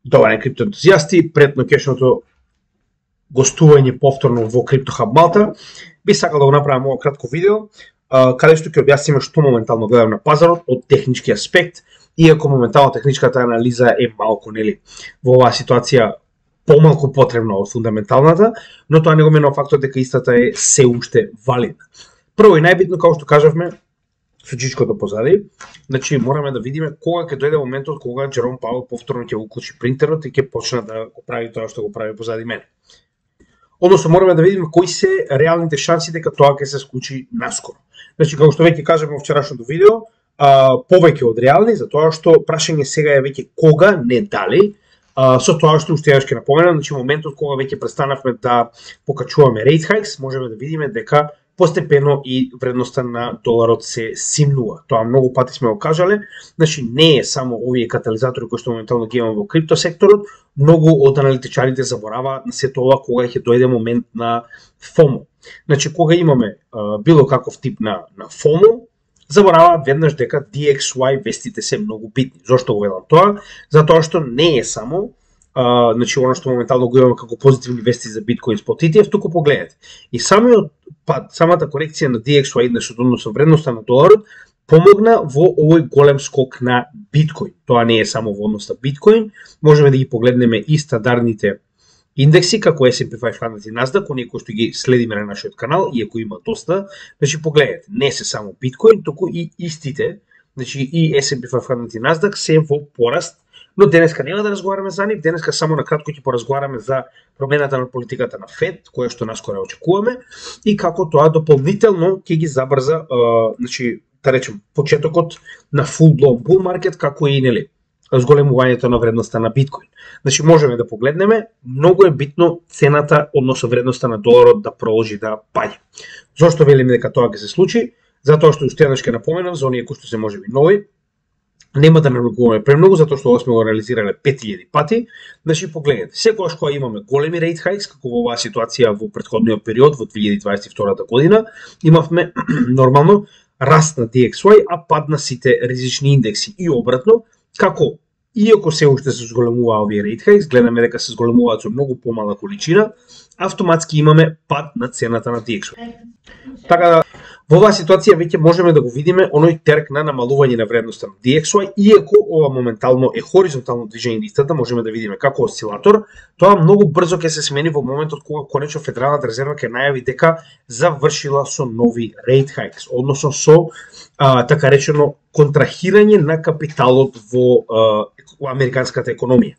Добар ден, криптоентузијасти, пред ноќешното гостување повторно во CryptoHub Малта, би сакал да го направам ово кратко видео, каде што ќе објасниме што моментално гледам на пазарот од технички аспект, иако моментално техничката анализа е малку, нели, во оваа ситуација помалку потребна од фундаменталната, но тоа не го менува фактот дека истата е се уште валидна. Прво и најбитно, како што кажавме, со чичкото позади, значи мораме да видиме кога ќе дојде моментот кога Джером Пауел повторно ќе уклучи принтерот и ќе почне да го прави тоа што го прави позади мене. Односно мораме да видиме кои се реалните шанси дека тоа ќе се случи наскоро. Значи како што веќе кажавме во вчерашното видео, повеќе од реални, затоа што прашање сега е веќе кога, не дали. Со тоа што уште ќе напоменам, значи моментот кога веќе престанавме да покачуваме rate hikes, можеме да видиме дека постепено и вредноста на доларот се симнува. Тоа многу пати сме го кажале, значи не е само овие катализатори кои што моментално ги имаме во криптосекторот, многу од аналитичарите забораваат на сето ова кога ќе дојде момент на FOMO. Значи кога имаме било каков тип на FOMO, забораваат веднаш дека DXY вестите се многу битни. Зошто го велам тоа? Затоа што не е само значи оно што моментално го имаме како позитивни вести за биткоин спот ETF, туку погледнете. И самата корекција на DXY индексот, односно вредноста на доларот, помогна во овој голем скок на биткоин. Тоа не е само во однос на биткоин, можеме да ги погледнеме и стандардните индекси како S&P 500 и Nasdaq, оние кои што ги следиме на нашиот канал, иако има доста, значи погледнете, не се само биткоин, туку и истите, значи и S&P 500 и Nasdaq се во пораст. Но денеска нема да разговараме за нив, денеска само на кратко ќе поразговараме за промената на политиката на Фед, која што наскоро очекуваме, и како тоа дополнително ќе ги забрза, значи, да речем, почетокот на full-blown bull market, како и, нели, зголемувањето на вредноста на биткоин. Значи, можеме да погледнеме, многу е битно цената, односно вредноста на доларот да продолжи да паѓа. Зошто велиме дека тоа ќе се случи? Затоа што уште еднаш ќе напоменам за оние кои што се можеби нови, нема да навлегуваме премногу, затоа што ова сме го анализирале 5000 пати. Значи, погледнете, секогаш кога имаме големи rate hikes, како во оваа ситуација во претходниот период, во 2022 година, имавме нормално раст на DXY, а пад на сите ризични индекси. И обратно, како иако се уште се зголемува овие rate hikes, гледаме дека се зголемуваат со многу помала количина, автоматски имаме пад на цената на DXY. Така да, во оваа ситуација веќе можеме да го видиме оној терк на намалување на вредноста на DXY, иако ова моментално е хоризонтално движење листата, можеме да видиме како осцилатор, тоа многу брзо ќе се смени во моментот кога конечно Федералната резерва ќе најави дека завршила со нови rate hikes, односно со така речено контрахирање на капиталот во американската економија.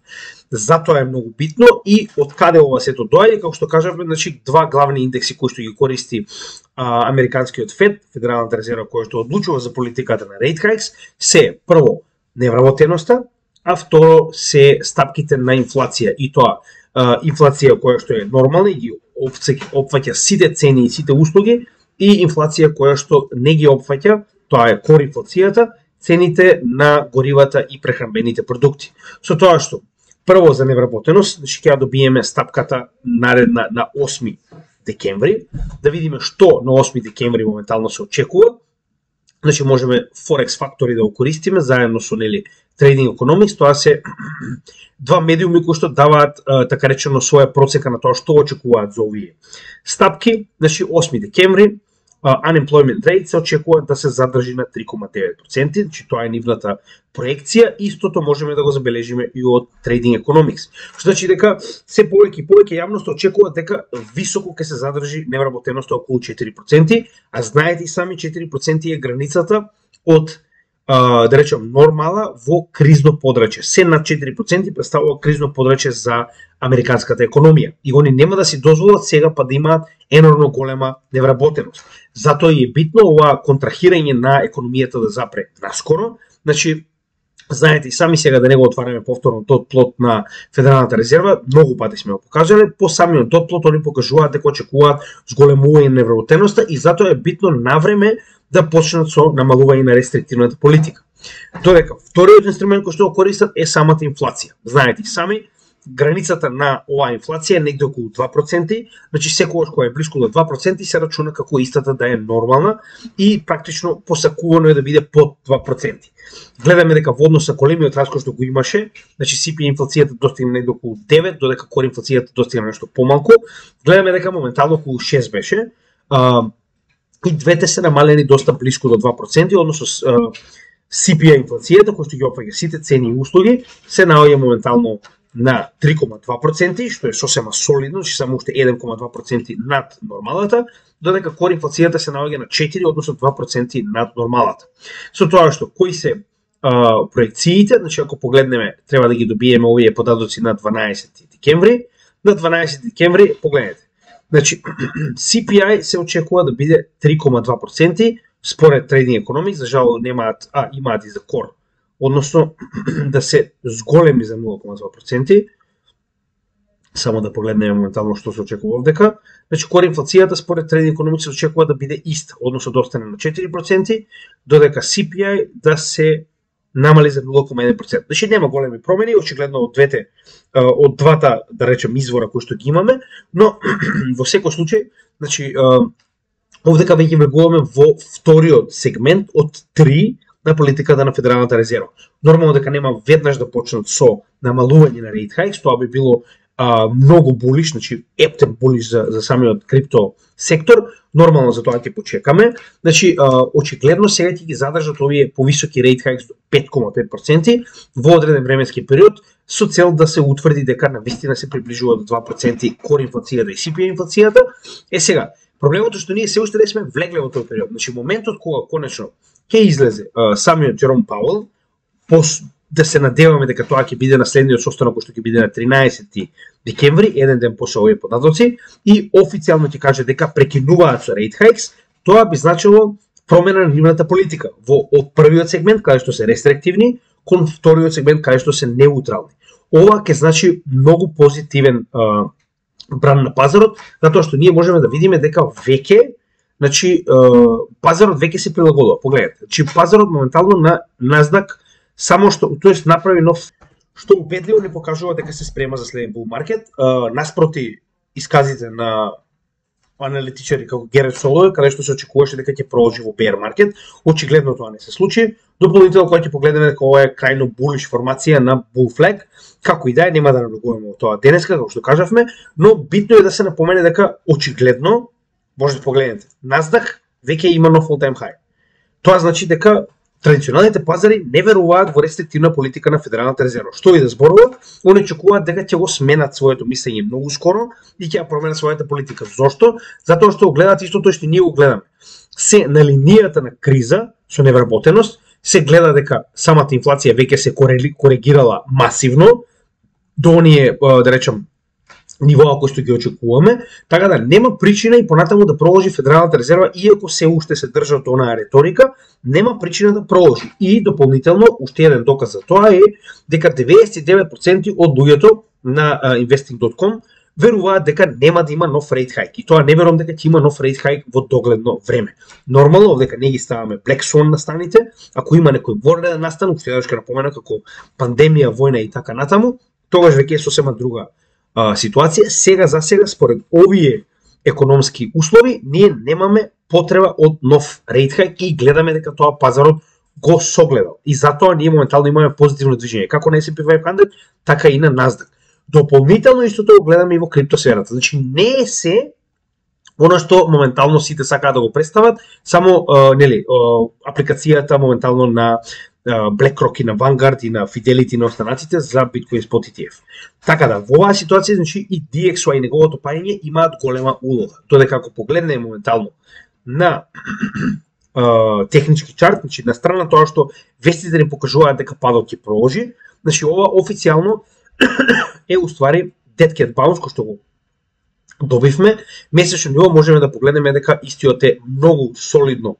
Затоа е многу битно и од каде ова сето доаѓа, како што кажавме, значи два главни индекси кои што ги користи американскиот Фед, Федералната резерва која што одлучува за политиката на rate hikes, се прво невработеноста, а второ се стапките на инфлација, и тоа инфлација која што е нормална и ги опфаќа сите цени и сите услуги, и инфлација која што не ги опфаќа, тоа е кор инфлацијата, цените на горивата и прехранбените продукти. Со тоа што прво за невработеност, значи ќе добиеме стапката наредна на 8 декември, да видиме што на 8 декември моментално се очекува. Значи можеме Forex фактори да го користиме заедно со нели Trading Economics, тоа се два медиуми кои што даваат така речено своја процека на тоа што очекуваат за овие стапки. Значи 8 декември unemployment rate се очекува да се задржи на 3,9%, значи тоа е нивната проекција, истото можеме да го забележиме и од Trading Economics. Што значи дека се повеќе и повеќе јавност очекува дека високо ќе се задржи невработеноста околу 4%, а знаете и сами 4% е границата од да речем нормала во кризно подрачје. Се над 4% представува кризно подрачје за американската економија. И они нема да си дозволат сега па да имаат енормно голема невработеност. Затоа е битно ова контрахирање на економијата да запре наскоро. Значи, знаете и сами сега да не го отвараме повторно тот плот на Федералната резерва, многу пати сме го покажале, по самиот тот плот они покажуваат дека очекуваат зголемување на невработеноста и затоа е битно навреме да почнат со намалување на рестриктивната политика. Додека вториот инструмент кој што го користат е самата инфлација. Знаете и сами, границата на оваа инфлација е негде околу 2%, значи секогаш кога е блиску до 2% се рачуна како истата да е нормална и практично посакувано е да биде под 2%. Гледаме дека во однос на големиот раскош што го имаше, значи CPI инфлацијата достигна негде околу 9, додека core инфлацијата достигна нешто помалку, гледаме дека моментално околу 6 беше. И двете се намалени доста блиску до 2%, односно CPI инфлацијата, која што ги опфаќа сите цени и услуги, се наоѓа моментално на 3,2%, што е сосема солидно, значи само уште 1,2% над нормалата, додека core инфлацијата се наоѓа на 4, односно 2% над нормалата. Со тоа што кои се проекциите, значи ако погледнеме, треба да ги добиеме овие податоци на 12 декември. На 12 декември, погледнете, значи CPI се очекува да биде 3,2%, според Trading Economics, за жал имаат и за core, односно да се зголеми за 0,2%. Само да погледнеме моментално што се очекува овдека. Значи core инфлацијата според Trading Economics се очекува да биде иста, односно да остане на 4%, додека CPI да се намали за 0,1%. Значи нема големи промени, очигледно од двата, да речем, извора кои што ги имаме, но во секој случај, значи овдека веќе влегуваме во вториот сегмент од 3 на политиката на Федералната резерва. Нормално дека нема веднаш да почнат со намалување на rate hikes, тоа би било многу булиш, значи ептен булиш за самиот крипто сектор. Нормално за тоа ќе почекаме. Значи очигледно сега ќе ги задржат овие повисоки rate hikes до 5,5% во одреден временски период со цел да се утврди дека навистина се приближува до 2% core инфлацијата и CPI инфлацијата. Сега, проблемот е што ние се уште не сме влегле во тој период. Значи моментот кога конечно ќе излезе самиот Джером Пауел, да се надеваме дека тоа ќе биде на следниот состанок кој што ќе биде на 13 декември, еден ден после овие податоци, и официјално ќе каже дека прекинуваат со rate hikes, тоа би значило промена на нивната политика од првиот сегмент каде што се рестриктивни кон вториот сегмент каде што се неутрални. Ова ќе значи многу позитивен бран на пазарот, затоа што ние можеме да видиме дека веќе, значи пазарот веќе се прилагодува. Погледнете, значи пазарот моментално на Nasdaq само што, тоест направи нов, што убедливо не покажува дека се спрема за следен bull market, наспроти исказите на аналитичари како Герет Солој, каде што се очекуваше дека ќе продолжи во bear market. Очигледно тоа не се случи. Дополнително кога ќе погледнеме дека ова е крајно булиш формација на bull flag, како и да е, нема да навлегуваме во тоа денеска, како што кажавме, но битно е да се напомене дека очигледно, може да погледнете, Nasdaq веќе има нов all time high. Тоа значи дека традиционалните пазари не веруваат во рестриктивна политика на Федералната резерва. Што и да зборуваат, они очекуваат дека ќе го сменат своето мислење многу скоро и ќе ја променат својата политика. Зошто? Затоа што гледаат истото што ние го гледаме. Се на линијата на криза со невработеност, се гледа дека самата инфлација веќе се коригирала масивно до оние, да речем, нивоа кои што ги очекуваме, така да нема причина и понатаму да продолжи Федералната резерва, иако се уште се држат онаа реторика, нема причина да продолжи. И дополнително, уште еден доказ за тоа е дека 99% од луѓето на investing.com веруваат дека нема да има нов rate hike. И тоа не верувам дека ќе има нов rate hike во догледно време. Нормално, овдека не ги ставаме black swan на станите, ако има некој вонреден настан, уште еднаш ќе напомена како пандемија, војна и така натаму, тогаш веќе е сосема друга ситуација. Сега за сега, според овие економски услови, ние немаме потреба од нов rate hike и гледаме дека тоа пазарот го согледал. И затоа ние моментално имаме позитивно движење, како на S&P 500, така и на Nasdaq. Дополнително истото го гледаме и во криптосферата. Значи не е се она што моментално сите сакаат да го представат, само апликацијата моментално на BlackRock и на Vanguard и на Fidelity и на останатите за Bitcoin Spot ETF. Така да, во оваа ситуација, значи и DXY и неговото паѓање имаат голема улога. Додека ако погледнеме моментално на технички чарт, значи на страна тоа што вестите ни покажуваат дека падот ќе продолжи, значи ова официјално е уствари Dead Cat Bounce, кој што го добивме. Месечно ниво можеме да погледнеме дека истиот е многу солидно.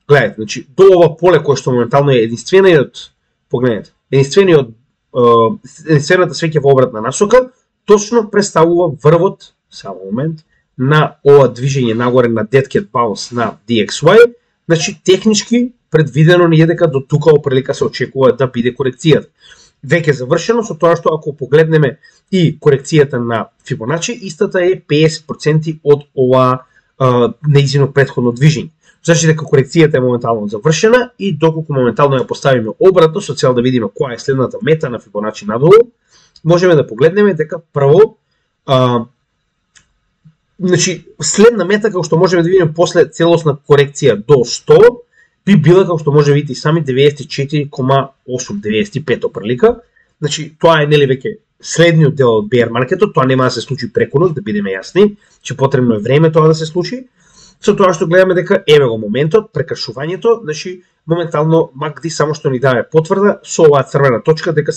Гледате, значи до ова поле кое што моментално е единствениот, погледнете, единствената свеќа во обратна насока, точно представува врвот, само момент, на ова движење нагоре на Dead Cat Bounce на DXY. Значи технички предвидено ни е дека до тука оприлика се очекува да биде корекцијата. веќе завршено, со тоа што ако погледнеме и корекцијата на Фибоначи, истата е 50% од ова неизино претходно движење. Значи дека корекцијата е моментално завршена и доколку моментално ја поставиме обратно со цел да видиме која е следната мета на Фибоначи надолу, можеме да погледнеме дека прво значи следна мета како што можеме да видиме после целосна корекција до 100 би била како што може да видите сами 94,8-95 прилика. Значи тоа е нели веќе следниот дел од bear маркетот, тоа нема да се случи преку ноќ, да бидеме јасни, че потребно е време тоа да се случи. Со тоа што гледаме дека еве го моментот, прекршувањето, значи моментално MACD само што ни даде потврда со оваа црвена точка дека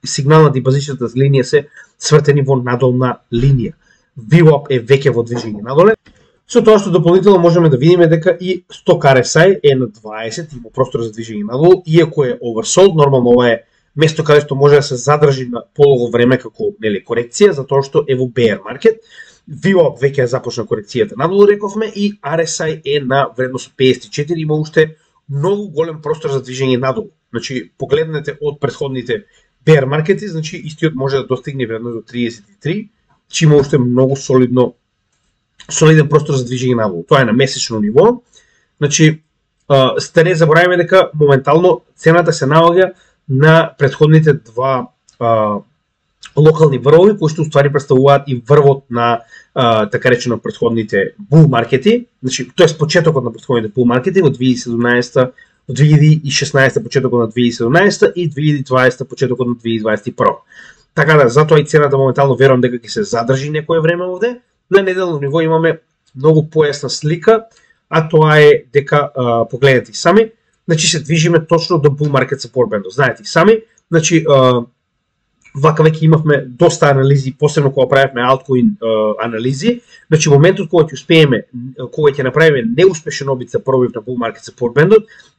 сигналната и базичната линија се свртени во надолна линија. VWAP е веќе во движење надоле. Со тоа што дополнително можеме да видиме дека и сток RSI е на 20, има простор за движење надолу, иако е oversold, нормално ова е место каде што може да се задржи на полого време како нели корекција, затоа што е во bear маркет. VWAP веќе започна корекцијата надолу, рековме, и RSI е на вредност 54, има уште многу голем простор за движење надолу. Значи, погледнете од претходните bear маркети, значи истиот може да достигне вредност до 33, че има уште многу солиден простор за движење надолу. Тоа е на месечно ниво. Значи, да не забораваме дека моментално цената се наоѓа на претходните два локални врвови, кои што уствари представуваат и врвот на така речено претходните бул маркети, значи тоест почетокот на претходните бул маркети од 2017, од 2016 почетокот на 2017 и 2020 почетокот на 2021. Така да, затоа и цената моментално верувам дека ќе се задржи некое време овде. На неделно ниво имаме многу појасна слика, а тоа е дека погледнете сами, значи се движиме точно до bull market support band. Знаете сами, значи вака веќе имавме доста анализи, посебно кога правевме altcoin анализи, значи моментот кога ќе успееме, кога ќе направиме неуспешен обид за пробив на bull market support band,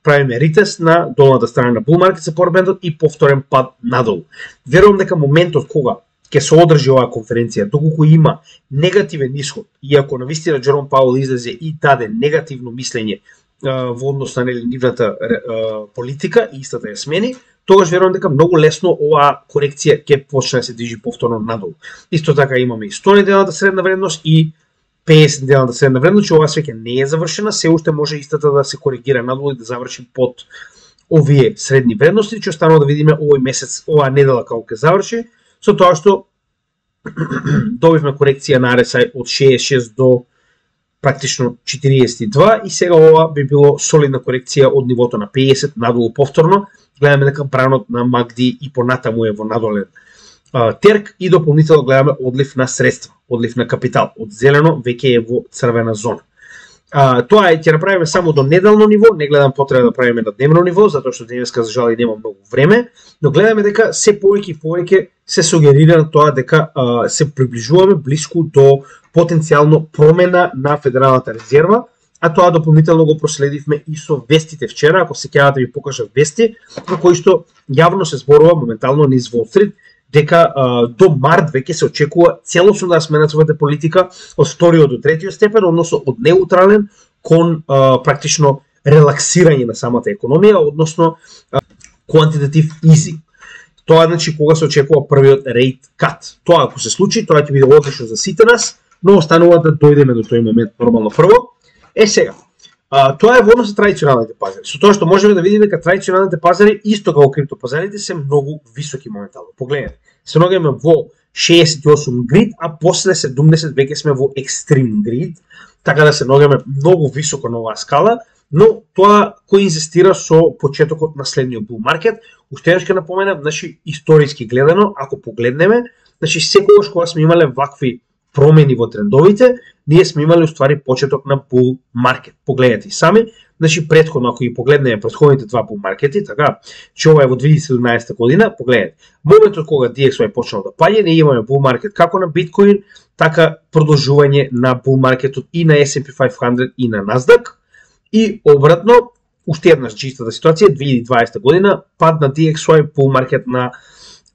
правиме ретест на долната страна на bull market support band и повторен пад надолу. Верувам дека моментот кога ќе се одржи оваа конференција, доколку има негативен исход, иако навистина Джером Пауел излезе и даде негативно мислење во однос на нивната политика и истата ја смени, тогаш верувам дека многу лесно оваа корекција ќе почне да се движи повторно надолу. Исто така имаме и 100 неделната средна вредност и 50 неделната средна вредност, че оваа свеќе не е завршена, се уште може истата да се коригира надолу и да заврши под овие средни вредности, че останува да видиме овој месец, оваа недела како ќе заврши, со тоа што добивме корекција на RSI од 66 до практично 42 и сега ова би било солидна корекција од нивото на 50 надолу повторно. Гледаме дека бранот на MACD и понатаму е во надолен терк и дополнително гледаме одлив на средства, одлив на капитал. Од зелено веќе е во црвена зона. Тоа ќе направиме само до неделно ниво, не гледам потреба да правиме на дневно ниво, затоа што денеска за жал нема многу време, но гледаме дека се повеќе и повеќе се сугерира на тоа дека се приближуваме блиску до потенцијално промена на Федералната резерва, а тоа дополнително го проследивме и со вестите вчера, ако се ќе да ви покажам вести, на кои што јавно се зборува моментално низ Wall Street, дека до март веќе се очекува целосно да смена својата политика од вториот до третиот степен, односно од неутрален кон практично релаксирање на самата економија, односно quantitative easing. Тоа значи кога се очекува првиот rate cut. Тоа ако се случи, тоа ќе биде одлично за сите нас, но останува да дојдеме до тој момент нормално прво. Сега, тоа е во однос на традиционалните пазари. Со тоа што можеме да видиме дека традиционалните пазари, исто како криптопазарите, се многу високи моментално. Погледнете, се наоѓаме во 68 грид, а после 70 веќе сме во екстрим грид, така да се наоѓаме многу високо на оваа скала, но тоа коинзистира со почетокот на следниот bull маркет. Уште еднаш ќе напоменам, значи историски гледано, ако погледнеме, значи секогаш кога сме имале вакви промени во трендовите, ние сме имали уствари почеток на bull маркет. Погледнете сами, значи претходно ако ги погледнеме претходните два bull маркети, така, че ова е во 2017 година, погледнете. Моментот кога DXY почнал да паѓа, ние имаме bull маркет како на биткоин, така продолжување на bull маркетот и на S&P 500 и на Nasdaq. И обратно, уште еднаш чистата ситуација, 2020 година, пад на DXY, bull маркет на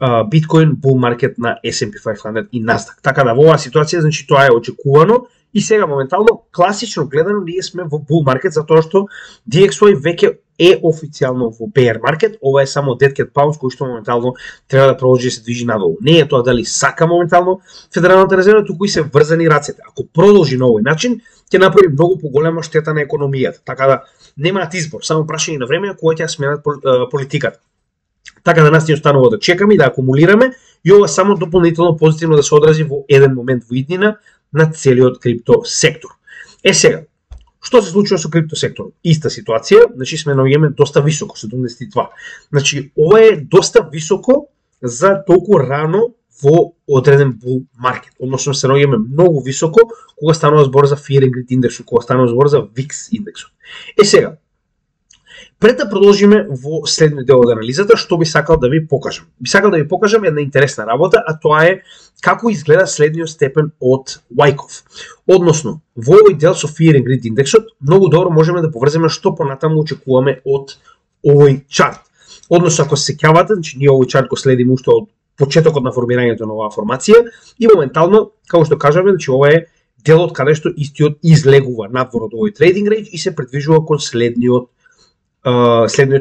Bitcoin bull market на S&P 500 и Nasdaq. Така да во оваа ситуација значи тоа е очекувано и сега моментално класично гледано ние сме во bull market затоа што DXY веќе е официјално во bear market. Ова е само dead cat bounce кој што моментално треба да продолжи да се движи надолу. Не е тоа дали сака моментално Федералната резерва, туку и се врзани рацете. Ако продолжи на овој начин, ќе направи многу поголема штета на економијата. Така да немаат избор, само прашање на време кога ќе сменат политиката. Така да нас ни останува да чекаме и да акумулираме и ова само дополнително позитивно да се одрази во еден момент во иднина на целиот крипто сектор. Сега, што се случува со крипто сектор? Иста ситуација, значи сме наоѓаме доста високо, 72. Значи ова е доста високо за толку рано во одреден bull market. Односно се наоѓаме многу високо кога станува збор за Fear and Greed индексот, кога станува збор за VIX индексот. Сега, пред да продолжиме во следниот дел од анализата, што би сакал да ви покажам? Би сакал да ви покажам една интересна работа, а тоа е како изгледа следниот степен од Wyckoff. Односно, во овој дел со Fear and Greed индексот, многу добро можеме да поврземе што понатаму очекуваме од овој чарт. Односно, ако се сеќавате, значи ние овој чарт го следиме уште од почетокот на формирањето на оваа формација и моментално, како што кажаме, значи ова е делот каде што истиот излегува надвор од овој трейдинг рейндж и се придвижува кон следниот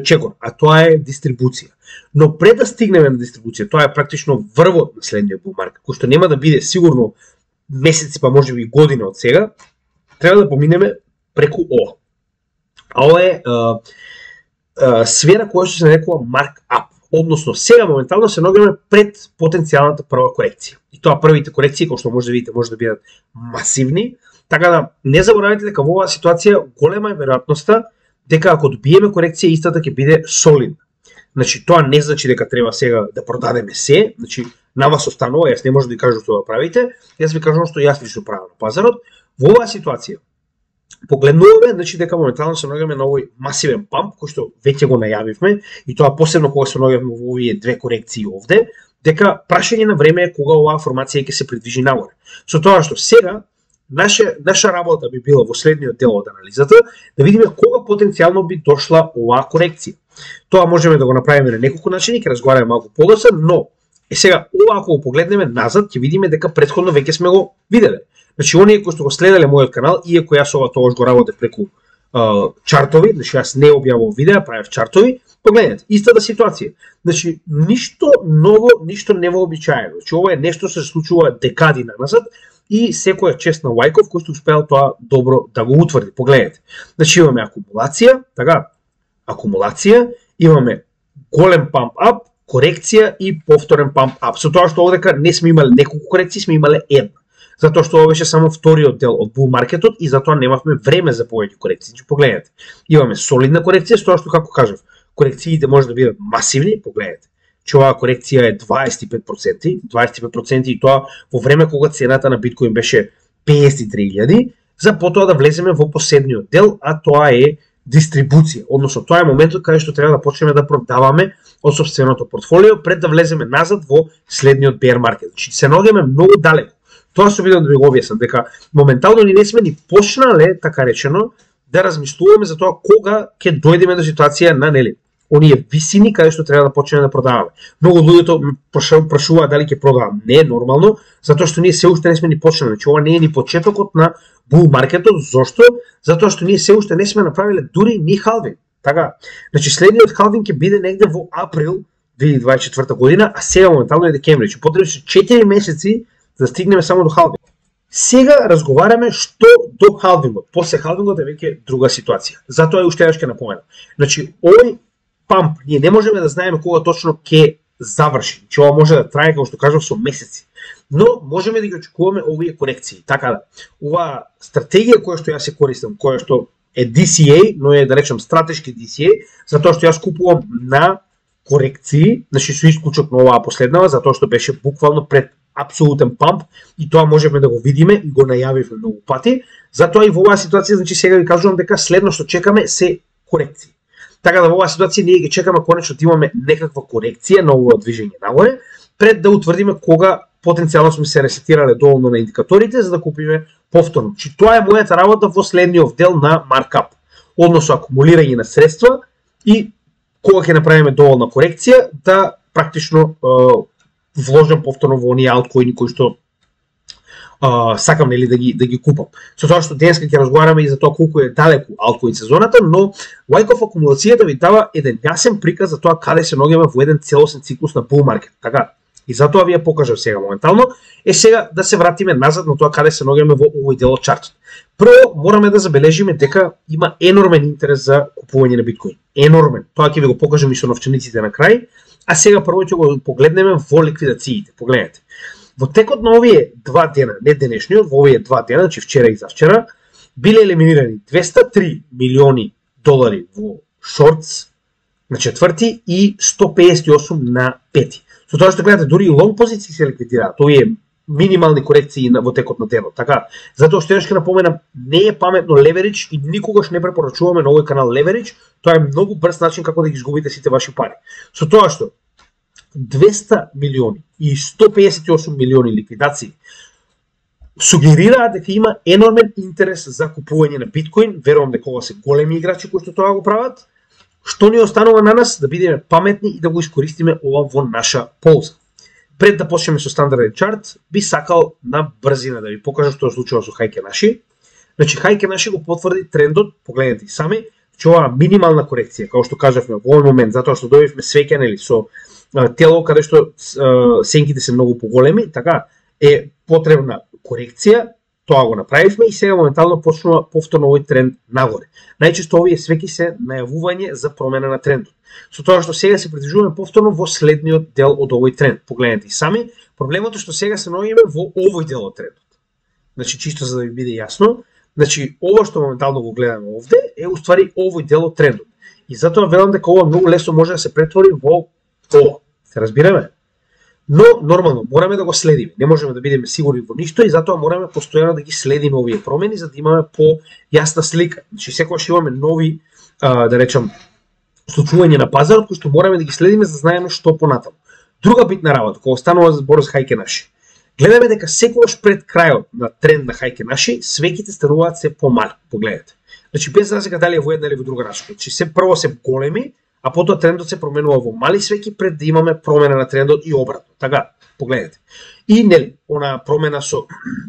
чекор, а тоа е дистрибуција. Но пред да стигнеме на дистрибуција, тоа е практично врвот на следниот bull market, кој што нема да биде сигурно месеци, па можеби и година од сега, треба да поминеме преку ова. А ова е сфера која што се нарекува mark-up. Односно, сега моментално се наоѓаме пред потенцијалната прва корекција. И тоа првите корекции, кои што може да видите, може да бидат масивни, така да не заборавајте дека во оваа ситуација голема е веројатноста дека ако добиеме корекција истата ќе биде солидна. Значи тоа не значи дека треба сега да продадеме се, значи на вас останува, јас не можам да ви кажам што да правите, јас ви кажам што јас лично правам на пазарот. Во оваа ситуација погледнуваме, значи дека моментално се наоѓаме на овој масивен памп кој што веќе го најавивме и тоа посебно кога се наоѓаме во овие две корекции овде, дека прашање на време е кога оваа формација ќе се придвижи нагоре. Со тоа што сега наша работа би била во следниот дел од анализата да видиме кога потенцијално би дошла оваа корекција. Тоа можеме да го направиме на неколку начини, ќе разговараме малку подоцна, но сега ова ако го погледнеме назад ќе видиме дека претходно веќе сме го виделе. Значи оние кои што го следеле мојот канал, иако јас ова тогаш го работев преку чартови, значи јас не објавував видеа, правев чартови, погледнете, истата ситуација. Значи ништо ново, ништо невообичаено. Значи ова е нешто што се случува декади назад и секоја чест на Wyckoff кој што успеал тоа добро да го утврди. Погледнете. Значи имаме акумулација, така, акумулација, имаме голем pump up, корекција и повторен pump up. Со тоа што овдека не сме имале неколку корекции, сме имале една. Затоа што ова беше само вториот дел од bull маркетот и затоа немавме време за повеќе корекции. Значи погледнете. Имаме солидна корекција, со тоа што како кажав, корекциите може да бидат масивни, погледнете. Че оваа корекција е 25% и тоа во време кога цената на биткоин беше 53.000, за потоа да влеземе во последниот дел, а тоа е дистрибуција. Односно тоа е моментот каде што треба да почнеме да продаваме од сопственото портфолио пред да влеземе назад во следниот bear market. Значи се наоѓаме многу далеко. Тоа се обидам да ви го објаснам, дека моментално ни не сме ни почнале, така речено, да размислуваме за тоа кога ќе дојдеме до ситуација на нели оние висини каде што треба да почнеме да продаваме. Многу луѓето прашуваат дали ќе продавам. Не е нормално, затоа што ние се уште не сме ни почнале. Значи ова не е ни почетокот на bull маркетот. Зошто? Затоа што ние се уште не сме направиле дури ни халвинг. Така. Значи следниот халвинг ќе биде негде во април 2024 година, а сега моментално е декември. Значи потребни се 4 месеци да стигнеме само до халвинг. Сега разговараме што до халвингот. После халвингот е веќе друга ситуација. Затоа е уште ќе напоменам. Значи овој памп ние не можеме да знаеме кога точно ќе заврши. Значи ова може да трае, како што кажав, со месеци. Но можеме да ги очекуваме овие корекции. Така да, оваа стратегија која што јас се користам, која што е DCA, но е да речем стратешки DCA, затоа што јас купувам на корекции, значи со исклучок на оваа последнава, затоа што беше буквално пред апсолутен памп и тоа можеме да го видиме и го најавивме многу пати. Затоа и во оваа ситуација, значи сега ви кажувам дека следно што чекаме се корекции. Така да во оваа ситуација ние ги чекаме конечно да имаме некаква корекција на овој движење нагоре, пред да утврдиме кога потенцијално сме се ресетирале доволно на индикаторите за да купиме повторно. Значи тоа е мојата работа во следниот дел на маркап, односно акумулирање на средства и кога ќе направиме доволна корекција да практично вложам повторно во оние алткоини кои што сакам нели да ги купам. Со тоа што денеска ќе разговараме и за тоа колку е далеку алткоин сезоната, но Wyckoff акумулацијата ви дава еден јасен приказ за тоа каде се наоѓаме во еден целосен циклус на bull market, така? И затоа ви ја покажав сега моментално. Сега да се вратиме назад на тоа каде се наоѓаме во овој дел од чартот. Прво мораме да забележиме дека има енормен интерес за купување на биткоин. Енормен. Тоа ќе ви го покажам и со новчениците на крај. А сега прво ќе го погледнеме во ликвидациите. Погледнете. Во текот на овие 2 дена, не денешниот, во овие 2 дена, значи вчера и завчера, биле елиминирани 203 милиони долари во шортс на четврти и 158 на пети. Со тоа што гледате, дури и лонг позиции се ликвидираат, овие минимални корекции во текот на денот, така? Затоа што ќе напоменам, не е паметно леверидж и никогаш не препорачуваме на овој канал леверидж, тоа е многу брз начин како да ги изгубите сите ваши пари. Со тоа што 200 милиони и 158 милиони ликвидации сугерираат дека има енормен интерес за купување на биткоин, верувам дека ова се големи играчи кои што тоа го прават. Што ни останува на нас да бидеме паметни и да го искористиме ова во наша полза. Пред да почнеме со стандарден чарт, би сакал на брзина да ви покажам што се случува со Heiken Ashi. Значи Heiken Ashi го потврди трендот, погледнете и сами, че ова минимална корекција, како што кажавме во овој момент, затоа што добивме свеќа нели со тело каде што сенките се многу поголеми, така е потребна корекција. Тоа го направивме и сега моментално почнува повторно овој тренд нагоре. Најчесто овие свеќи се најавување за промена на трендот. Со тоа што сега се придвижуваме повторно во следниот дел од овој тренд. Погледнете и сами, проблемот е што сега се наоѓаме во овој дел од трендот. Значи чисто за да ви биде јасно, значи ова што моментално го гледаме овде е уствари овој дел од трендот. И затоа велам дека ова многу лесно може да се претвори во ова. Се разбираме? Но нормално мораме да го следиме. Не можеме да бидеме сигурни во ништо и затоа мораме постојано да ги следиме овие промени за да имаме појасна слика. Значи секогаш имаме нови да речам случувања на пазарот кои што мораме да ги следиме за да знаеме што понатаму. Друга битна работа кога станува збор за Heiken Ashi. Гледаме дека секогаш пред крајот на тренд на Heiken Ashi свеќите стануваат се помали. Погледнете. Значи без разлика дали е во една или во друга рачка. Значи се прво се големи, а потоа трендот се променува во мали свеќи пред да имаме промена на трендот и обратно. Така, погледнете. И нели, она промена со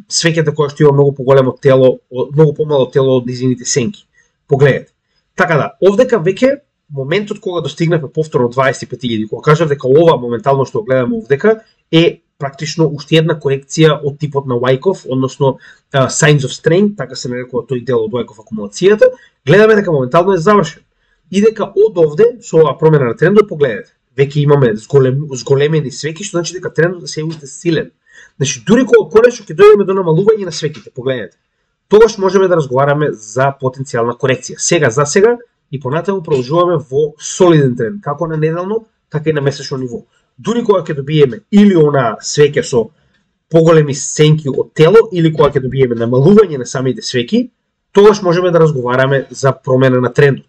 свеќата која што има многу поголемо тело, многу помало тело од низините сенки. Погледнете. Така да, овдека веќе моментот кога достигнавме повторно 25.000, кога кажав дека ова моментално што гледаме овдека е практично уште една корекција од типот на Wyckoff, односно Signs of Strength, така се нарекува тој дел од Wyckoff акумулацијата, гледаме дека моментално е завршен. И дека од овде, со оваа промена на трендот, погледнете, веќе имаме зголемени свеќи, што значи дека трендот се уште силен. Значи, дури кога конечно ќе дојдеме до намалување на свеќите, погледнете, тогаш можеме да разговараме за потенцијална корекција. Сега за сега и понатаму продолжуваме во солиден тренд, како на неделно, така и на месечно ниво. Дури кога ќе добиеме или она свеќа со поголеми сенки од тело, или кога ќе добиеме намалување на самите свеќи, тогаш можеме да разговараме за промена на трендот.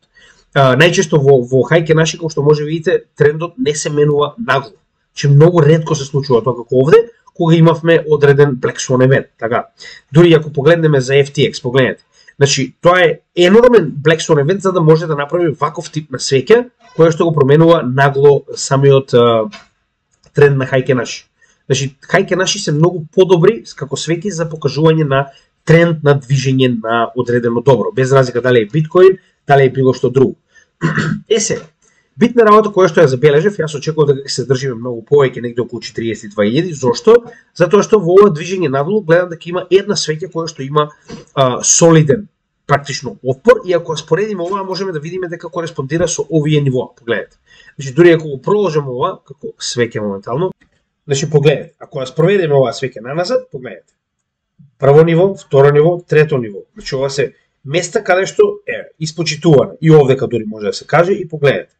Најчесто во Heiken Ashi, како што може видите, трендот не се менува нагло. Че многу ретко се случува тоа како овде, кога имавме одреден Black Swan евент. Така. Дури ако погледнеме за FTX, погледнете. Значи, тоа е енормен Black Swan евент за да може да направи ваков тип на свеќа, која што го променува нагло самиот тренд на Heiken Ashi. Значи, Heiken Ashi се многу подобри како свеќи за покажување на тренд на движење на одредено добро, без разлика дали е биткоин, дали е било што друго. Се, битна работа која што ја забележав, јас очекував дека ќе се држиме многу повеќе, негде околу 42.000. Зошто? Затоа што во ова движење надолу гледам дека има една свеќа која што има солиден практично отпор и ако споредиме ова можеме да видиме дека кореспондира со овие нивоа. Погледнете. Значи дури ако го продолжиме ова како свеќа моментално, значи погледнете, ако ја спроведеме оваа свеќа наназад, погледнете. Прво ниво, второ ниво, трето ниво. Значи ова се места каде што е испочитувана и овдека дури може да се каже и погледнете.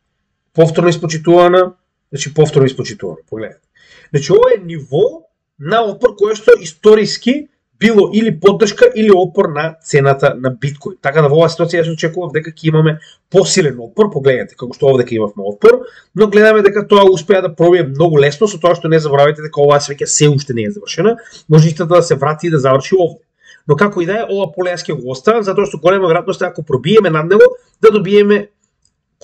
Повторно испочитувана, значи повторно испочитувана, погледнете. Значи ова е ниво на отпор кое што историски било или поддршка или отпор на цената на биткоин. Така да во оваа ситуација јас очекував дека ќе имаме посилен отпор, погледнете како што овдека имавме отпор, но гледаме дека тоа успеа да пробие многу лесно со тоа што не заборавајте дека оваа свеќа се уште не е завршена, може истата да се врати и да заврши овде. Но како и да е, ова поле јас ќе го оставам затоа што голема веројатност е ако пробиеме над него да добиеме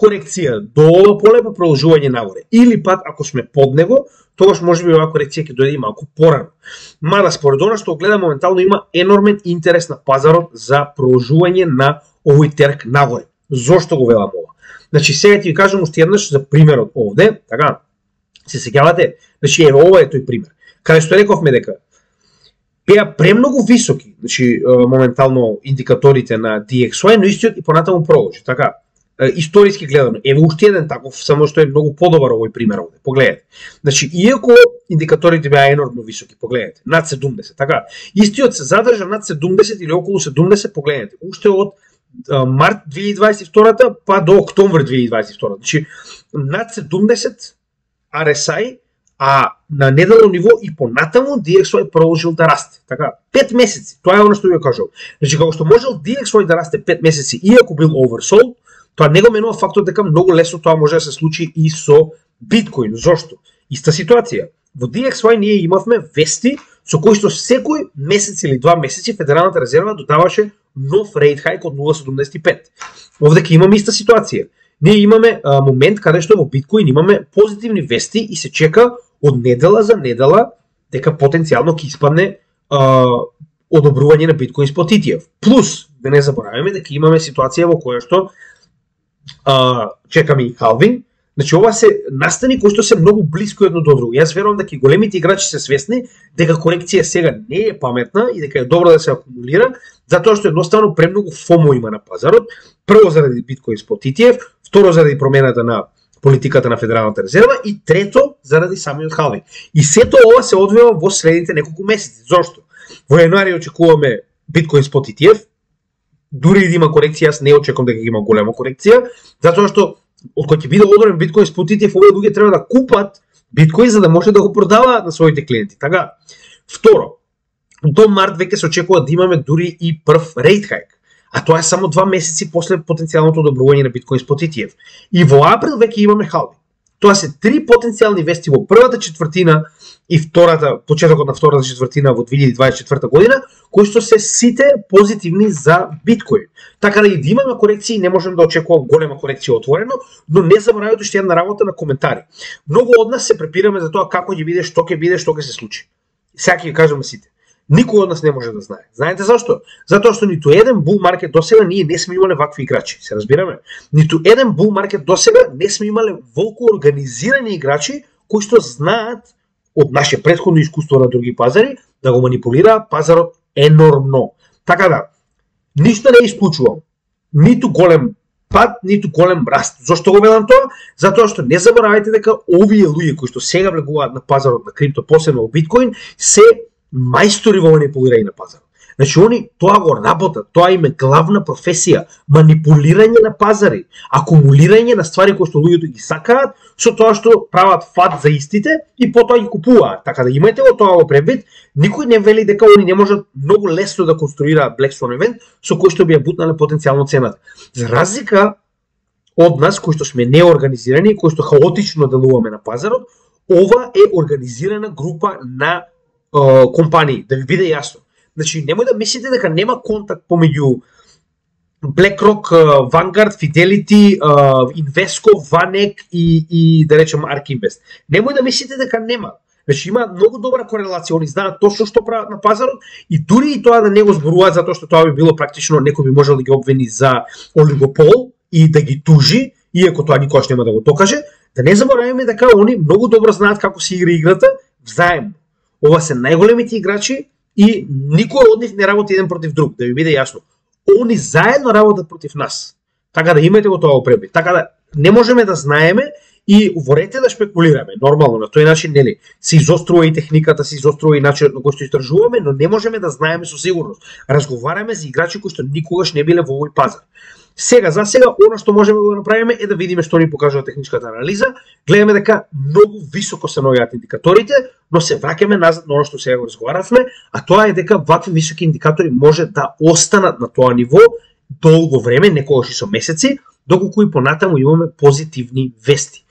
корекција до ова поле па продолжување нагоре. Или пат ако сме под него, тогаш можеби оваа корекција ќе дојде и малку порано. Мада според она што гледам моментално има енормен интерес на пазарот за продолжување на овој терк нагоре. Зошто го велам ова? Значи сега ќе ви кажам уште еднаш за примерот овде, така. Се сеќавате? Значи еве ова е тој пример. Каде што рековме дека беа премногу високи, значи моментално индикаторите на DXY, но истиот и понатаму продолжи, така. Историски гледано, еве уште еден таков, само што е многу подобар овој пример овде. Погледнете. Значи иако индикаторите беа енормно високи, погледнете, над 70, така. Истиот се задржа над 70 или околу 70, погледнете. Уште од март 2022 па до октомври 2022. Значи над 70 RSI, а на неделно ниво и понатаму DXY продолжил да расте. Така, 5 месеци, тоа е оно што ви кажав. Значи како што можел DXY да расте 5 месеци иако бил oversold, тоа не го менува фактот дека многу лесно тоа може да се случи и со биткоин. Зошто? Иста ситуација. Во DXY ние имавме вести со кои што секој месец или 2 месеци Федералната резерва додаваше нов рейт хајк од 0,75. Овде ќе имаме иста ситуација. Ние имаме момент каде што во биткоин имаме позитивни вести и се чека од недела за недела дека потенцијално ќе испадне одобрување на биткоин спот ETF. Плюс, да не забораваме дека имаме ситуација во која што чекаме и халвинг. Значи ова се настани кои што се многу блиско едно до друго. Јас верувам дека и големите играчи се свесни дека корекција сега не е паметна и дека е добро да се акумулира, затоа што едноставно премногу FOMO има на пазарот. Прво заради биткоин спот ETF, второ заради промената на политиката на Федералната резерва и трето заради самиот халвинг. И сето ова се одвива во следните неколку месеци. Зошто? Во јануари очекуваме биткоин спот ETF, дури и да има корекција, јас не очекувам дека има голема корекција, затоа што од кога ќе биде одобрен биткоин спот ETF, овие луѓе треба да купат биткоин за да може да го продаваат на своите клиенти. Така. Второ, до март веќе се очекува да имаме дури и прв рейт хајк. А тоа е само 2 месеци после потенцијалното одобрување на биткоин спот ETF. И во април веќе имаме халвинг. Тоа се 3 потенцијални вести во првата четвртина и почетокот на втората четвртина во 2024 година, кои што се сите позитивни за биткоин. Така да и да имаме корекции, не можем да очекуваме голема корекција отворено, но не заборавајте уште една работа на коментари. Многу од нас се препираме за тоа како ќе биде, што ќе се случи. Сега ќе кажам сите. Никој од нас не може да знае. Знаете зашто? Затоа што ниту еден бул маркет досега ние не сме имале вакви играчи. Се разбираме? Ниту еден бул маркет досега не сме имале волку организирани играчи кои што знаат од наше претходно искуство на други пазари да го манипулираат пазарот енормно. Така да, ништо не исклучувам. Ниту голем пад, ниту голем раст. Зошто го велам тоа? Затоа што не заборавајте дека овие луѓе кои што сега влегуваат на пазарот на крипто, посебно во биткоин, се мајстори во манипулирање на пазарот. Значи они тоа го работат, тоа им е главна професија, манипулирање на пазари, акумулирање на ствари кои што луѓето ги сакаат, со тоа што прават фат за истите и потоа ги купуваат. Така да имајте го тоа во предвид, никој не вели дека они не можат многу лесно да конструираат Black Swan event со кој што би ја бутнале потенцијално цената. За разлика од нас кои што сме неорганизирани, кои што хаотично делуваме на пазарот, ова е организирана група на компании, да ви биде јасно. Значи, немој да мислите дека нема контакт помеѓу BlackRock, Vanguard, Fidelity, Invesco, Vanek и да речем ARK Invest. Немој да мислите дека нема. Значи, има многу добра корелација, они знаат точно што прават на пазарот и дури и тоа да не го зборуваат затоа што тоа би било практично некој би можел да ги обвини за олигопол и да ги тужи, иако тоа никогаш нема да го докаже, да не забораваме дека они многу добро знаат како се игра играта взаемно. Ова се најголемите играчи и никој од нив не работи еден против друг, да ви биде јасно. Они заедно работат против нас. Така да имајте го тоа во предвид. Така да не можеме да знаеме и ворете да шпекулираме. Нормално, на тој начин, нели, се изострува и техниката, се изострува и начинот на кој што истражуваме, но не можеме да знаеме со сигурност. Разговараме за играчи кои што никогаш не биле во овој пазар. Сега, за сега, оно што можеме да го направиме е да видиме што ни покажува техничката анализа. Гледаме дека многу високо се наоѓаат индикаторите, но се враќаме назад на оно што сега го разговаравме, а тоа е дека вакви високи индикатори може да останат на тоа ниво долго време, некогаш и со месеци, доколку и понатаму имаме позитивни вести.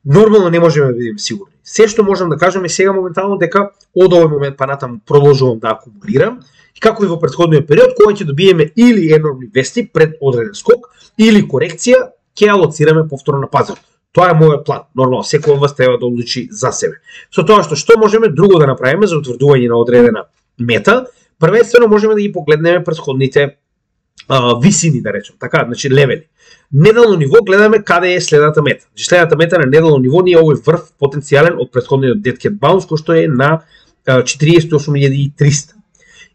Нормално не можеме да бидеме сигурни. Се што можам да кажам е сега моментално дека од овој момент па натаму продолжувам да акумулирам и како и во претходниот период, кога ќе добиеме или енормни вести пред одреден скок, или корекција, ќе алоцираме повторно на пазарот. Тоа е мојот план. Нормално, секој од вас треба да одлучи за себе. Со тоа што можеме друго да направиме за утврдување на одредена мета, првенствено можеме да ги погледнеме претходните висини, да речем, така, значи левели. Неделно ниво гледаме каде е следната мета. Значи следната мета на неделно ниво ни е овој врв потенцијален од претходниот Dead Cat Bounce, кој што е на 48.300.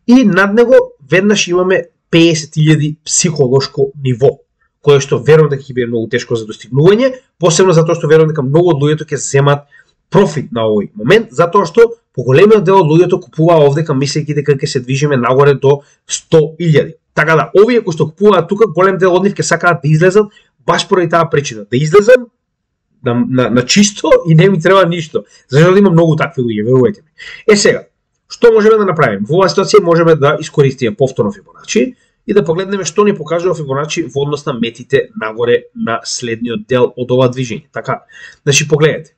И над него веднаш имаме 50.000 психолошко ниво, кое што верувам дека ќе биде многу тешко за достигнување, посебно затоа што верувам дека многу од луѓето ќе земат профит на овој момент, затоа што поголемиот дел од луѓето купуваа овдека мислејќи дека ќе се движиме нагоре до 100.000. Така да, овие кои што купуваат тука, голем дел од нив ќе сакаат да излезат баш поради таа причина, да излезат на чисто и не ми треба ништо. Зашто има многу такви луѓе, верувајте ми. Сега, што можеме да направиме? Во оваа ситуација можеме да искористиме повторно Фибоначи и да погледнеме што ни покажува Фибоначи во однос на метите нагоре на следниот дел од ова движење. Така, значи погледнете.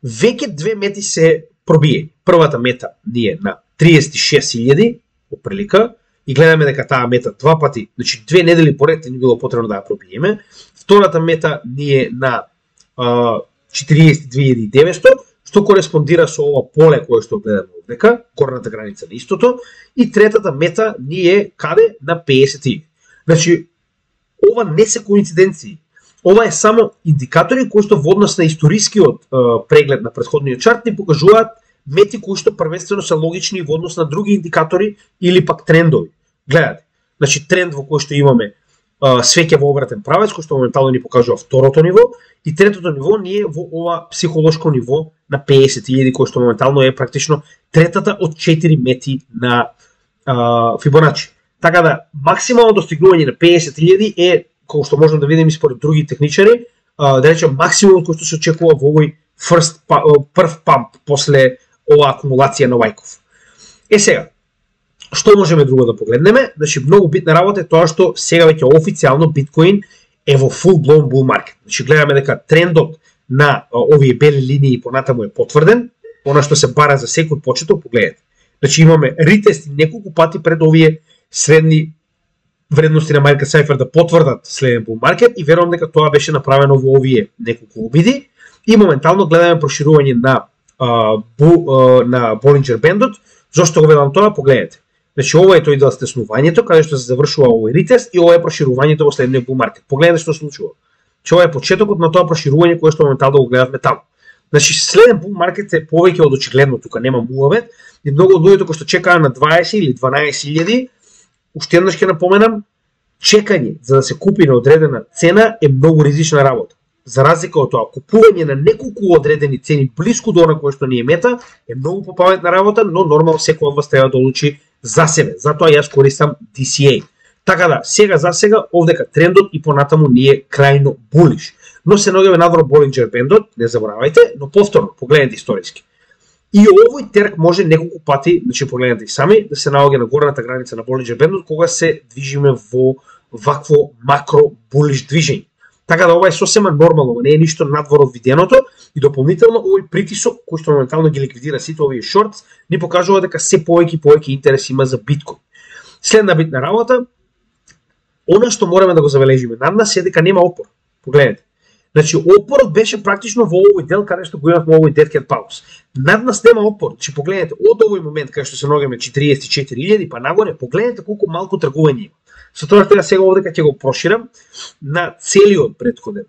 Веќе две мети се пробиени. Првата мета ни е на 36.000 отприлика и гледаме дека таа мета два пати, значи 2 недели поред ни било потребно да ја пробиеме. Втората мета ни е на 42.900, што кореспондира со ова поле кое што гледаме овдека, горната граница на истото, и третата мета ни е каде? На 50.000. Значи, ова не се коинциденции. Ова е само индикатори кои што во однос на историскиот преглед на претходниот чарт ни покажуваат мети кои што првенствено се логични во однос на други индикатори или пак трендови. Гледате, значи тренд во кој што имаме свеќе во обратен правец, кој што моментално ни покажува второто ниво, и третото ниво ни е во ова психолошко ниво на 50.000, кој што моментално е практично третата од 4 мети на Фибоначи. Така да, максимално достигнување на 50.000 е, кој што можеме да видиме според други техничари, да речем максимум кој што се очекува во овој прв памп после оваа акумулација на Вајков. Сега, што можеме друго да погледнеме? Значи, многу битна работа е тоа што сега веќе официјално биткоин е во full blown bull market. Значи, гледаме дека трендот на овие бели линии понатаму е потврден, она што се бара за секој почеток, погледнете. Значи, имаме ретести неколку пати пред овие средни вредности на Market Cypher да потврдат следен bull market и верувам дека тоа беше направено во овие неколку обиди и моментално гледаме проширување на Bollinger Bandот. Зошто го велам тоа? Погледнете. Значи, ова е тој дел стеснувањето, каде што се завршува овој ретест и ова е проширувањето во следниот bull market. Погледнете што се случува. Че ова е почетокот на тоа проширување кое што моментално го гледавме таму. Значи, следен bull market е повеќе од очигледно, тука нема муавет, и многу од луѓето кои што чекаа на 20 или 12.000, уште еднаш ќе напоменам, чекање за да се купи на одредена цена е многу ризична работа. За разлика од тоа, купување на неколку одредени цени блиску до она кое што ни е мета е многу попаметна работа, но нормално секој од вас треба да одлучи за себе. Затоа јас користам DCA. Така да, за сега овдека трендот и понатаму ни е крајно булиш. Но се наоѓаме надвор Bollinger Bandот, не заборавајте, но повторно погледнете историски. И овој терк може неколку пати, значи погледнете и сами, да се наоѓа на горната граница на Bollinger Bandот кога се движиме во вакво макро булиш движење. Така да ова е сосема нормално, не е ништо надвор од виденото и дополнително овој притисок кој што моментално ги ликвидира сите овие шортс ни покажува дека се повеќе и повеќе интерес има за биткоин. Следна битна работа, она што мораме да го забележиме над нас е дека нема опор. Погледнете. Значи опорот беше практично во овој дел каде што го имавме овој Dead Cat Bounce. Над нас нема опор. Значи погледнете, од овој момент каде што се наоѓаме 44.000 па нагоре, погледнете колку малку тргување има. Со тоа што сега овдека ќе го проширам на целиот претходен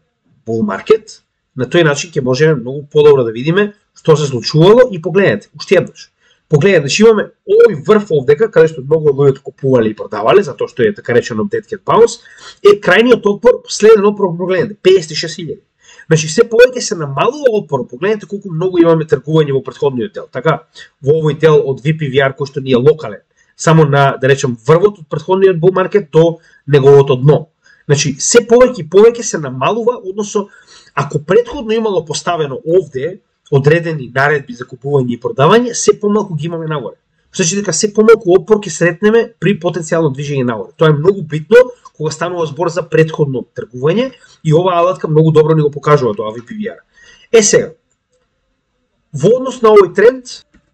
bull market, на тој начин ќе можеме многу подобро да видиме што се случувало и погледнете, уште еднаш. Погледнете, значи имаме овој врв овдека каде што многу луѓето купувале и продавале, затоа што е така речено Dead Cat Bounce, е крајниот отпор, следен отпор, погледнете, 56.000. Значи се повеќе се намалува отпор, погледнете колку многу имаме тргување во претходниот дел. Така, во овој дел од VPVR кој што ни е локален, само на, да речем, врвот од претходниот bull market до неговото дно. Значи, се повеќе и повеќе се намалува, односно, ако претходно имало поставено овде одредени наредби за купување и продавање, се помалку ги имаме нагоре. Значи дека се помалку опор ќе сретнеме при потенцијално движење нагоре. Тоа е многу битно кога станува збор за претходно тргување и оваа алатка многу добро ни го покажува тоа VPVR. Сега, во однос на овој тренд,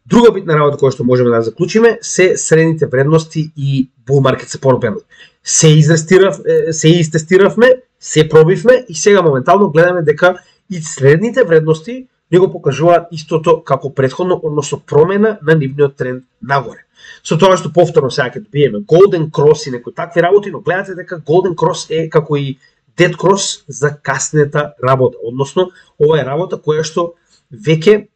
друга битна работа која што можеме да заклучиме се средните вредности и bull market support band. Се истестиравме се пробивме и сега моментално гледаме дека и следните вредности не го покажуваат истото како претходно, односно промена на нивниот тренд нагоре. Со тоа што повторно сега ќе добиеме Golden Cross и некои такви работи, но гледате дека Golden Cross е како и Dead Cross за каснета работа, односно ова е работа која што веќе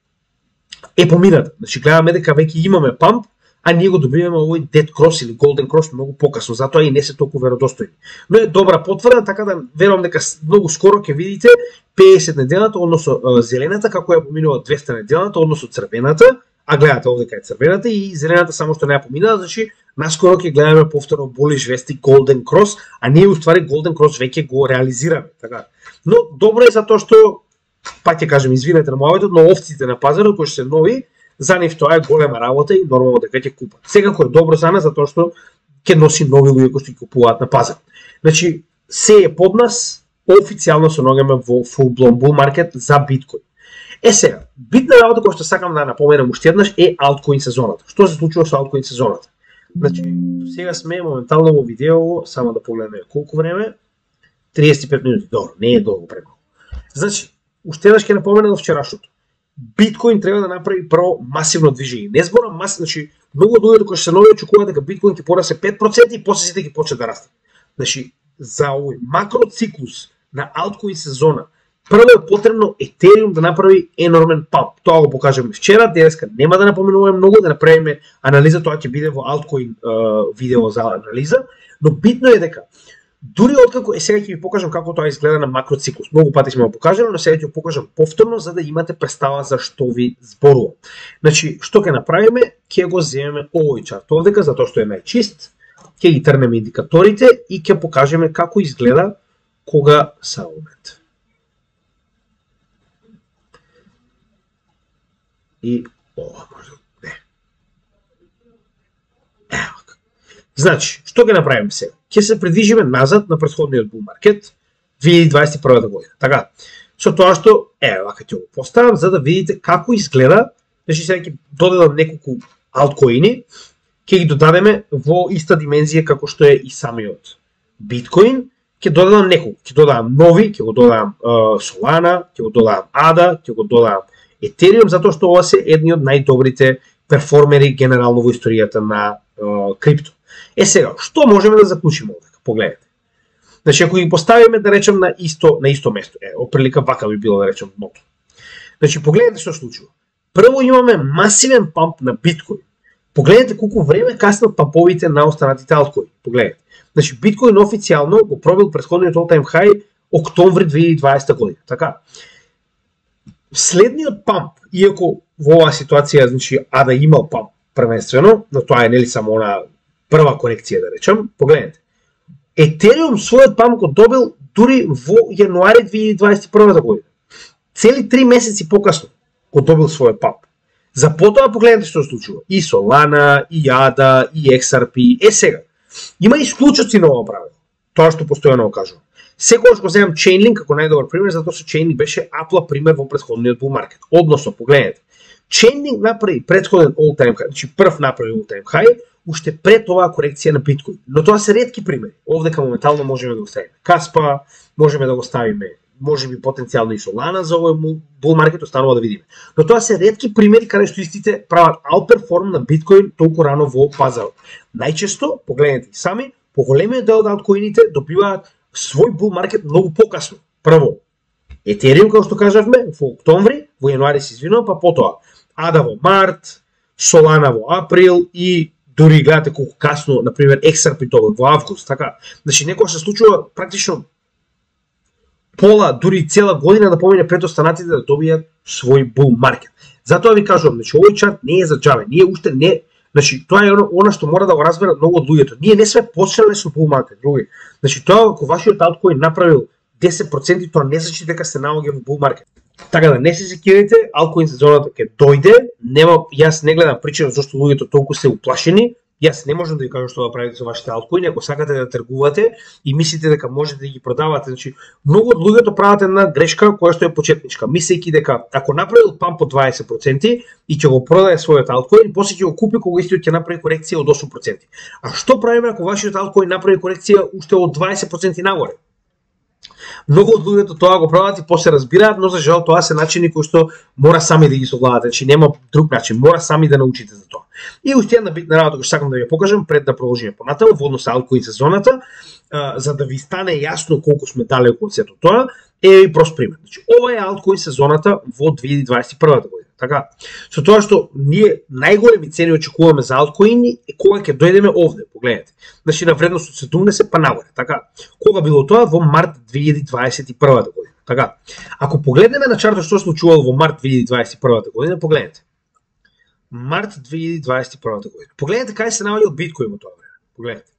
е помината. Значи гледаме дека веќе имаме памп, а ние го добиваме овој Dead Cross или Golden Cross многу покасно, затоа и не се толку веродостојни. Но е добра потврда, така да верувам дека многу скоро ќе видите 50 неделната, односно зелената, како ја поминува 200 неделната, односно црвената, а гледате овде кај црвената и зелената само што не ја поминаа, значи наскоро ќе гледаме повторно боли жвести Golden Cross, а ние уствари Golden Cross веќе го реализираме, така. Но добро е затоа што пак ќе кажем извинете на мојот, но овците на пазарот кои се нови, за нив тоа е голема работа и нормално дека ќе купат. Секако е добро за нас затоа што ќе носи нови луѓе кои што ќе купуваат на пазар. Значи се е под нас, официјално се наоѓаме во full blown bull market за биткоин. Сега, битна работа која што сакам да наpomenам уште еднаш е алткоин сезоната. Што се случува со алткоин сезоната? Значи, сега сме моментално во видео, само да погледнеме колку време, 35 минути, добро, не е долго премалку. Значи, уште еднаш ќе напоменам вчерашното. Биткоин треба да направи прво масивно движење. Не зборам масивно, значи многу луѓе кои се нови очекуваат дека биткоин ќе порасте 5% и после сите ќе почне да расте. Значи, за овој макроциклус на алткоин сезона, прво е потребно Етериум да направи енормен памп. Тоа го покажеме вчера, денеска нема да напоменуваме многу, да направиме анализа, тоа ќе биде во алткоин видео за анализа, но битно е дека дури откако сега ќе ви покажам како тоа изгледа на макроциклус. Многу пати сме го покажали, но сега ќе го покажам повторно за да имате представа за што ви зборувам. Значи, што ќе направиме? Ќе го земеме овој чарт овдека затоа што е најчист. Ќе ги трнеме индикаторите и ќе покажеме како изгледа кога са момент. И ова може не. Ево. Значи, што ќе направиме сега? Ќе се придвижиме назад на претходниот bull market 2021 година. Така, со тоа што вака ќе го поставам за да видите како изгледа. Значи сега ќе додадам неколку алткоини, ќе ги додадеме во иста димензија како што е и самиот биткоин. Ќе додадам неколку, ќе додадам нови, ќе го додадам Solana, ќе го додадам ADA, ќе го додадам Ethereum, затоа што ова се едни од најдобрите перформери генерално во историјата на крипто. Сега, што можеме да заклучиме овдека? Погледнете. Значи, ако ги поставиме, да речем, на исто место, оприлика вака би било да речем дното. Значи, погледнете што случува. Прво имаме масивен памп на биткоин. Погледнете колку време каснат памповите на останатите алткоини. Погледнете. Значи, биткоин официјално го пробил претходниот all-time high октомври 2020 година. Така. Следниот памп, иако во оваа ситуација, значи, ADA имал памп првенствено, но тоа е нели само она прва корекција, да речем, погледнете. Етериум својот памп го добил дури во јануари 2021 година. Цели 3 месеци покасно го добил својот памп. За потоа погледнете што се случува. И Solana, и ADA, и XRP. Сега, има исклучоци на ова правило. Тоа што постојано го кажувам. Секогаш го земам Chainlink како најдобар пример, затоа што Chainlink беше апла пример во претходниот bull market. Односно, погледнете. Chainlink направи претходен all-time high, значи прв направи all-time high, уште пред оваа корекција на биткоин. Но тоа се ретки примери. Овдека моментално можеме да го ставиме Каспа, можеме да го ставиме, можеби потенцијално и Solana за овој bull market, останува да видиме. Но тоа се ретки примери каде што истите прават outperform на биткоин толку рано во пазарот. Најчесто, погледнете и сами, поголемиот дел од алткоините добиваат свој bull market многу покасно. Прво, Ethereum, како што кажавме, во октомври, во јануари се извинувам, па потоа ADA во март, Solana во април и дури гледате колку касно, например, XRP во август, така. Значи, некоја се случува практично пола, дури цела година да помине пред останатите да добијат свој bull market. Затоа ви кажувам, значи, овој чарт не е за џабе. Ние уште не, значи, тоа е она што мора да го разберат многу од луѓето. Ние не сме почнале со bull market, други. Значи, тоа ако вашиот алткоин направил 10%, тоа не значи дека се наоѓа во bull market. Така да не се секирайте, алткоин сезоната ќе дојде. Нема, јас не гледам причина зашто луѓето толку се уплашени. Јас не можам да ви кажам што да правите со вашите алткоини, ако сакате да тргувате и мислите дека можете да ги продавате. Значи, многу од луѓето прават една грешка која што е почетничка, мислејќи дека ако направил памп од 20% и ќе го продае својот алткоин, после ќе го купи кога истиот ќе направи корекција од 8%. А што правиме ако вашиот алткоин направи корекција уште од 20% нагоре? Многу од луѓето тоа го прават и после разбираат, но за жал тоа се начини кои што мора сами да ги совладате, значи нема друг начин, мора сами да научите за тоа. И уште една битна работа која сакам да ја покажам пред да продолжиме понатаму во однос со алткоин сезоната, за да ви стане јасно колку сме далеку од сето тоа, е прост пример. Значи ова е алткоин сезоната во 2021 година. Така, со тоа што ние најголеми цени очекуваме за алткоини е кога ќе дојдеме овде, погледнете. Значи на вредност од 70 па нагоре, така. Кога било тоа? Во март 2021 година. Така. Ако погледнеме на чартот што се случувало во март 2021 година, погледнете. Март 2021 година. Погледнете кај се наоѓа од биткоин во тоа време. Погледнете.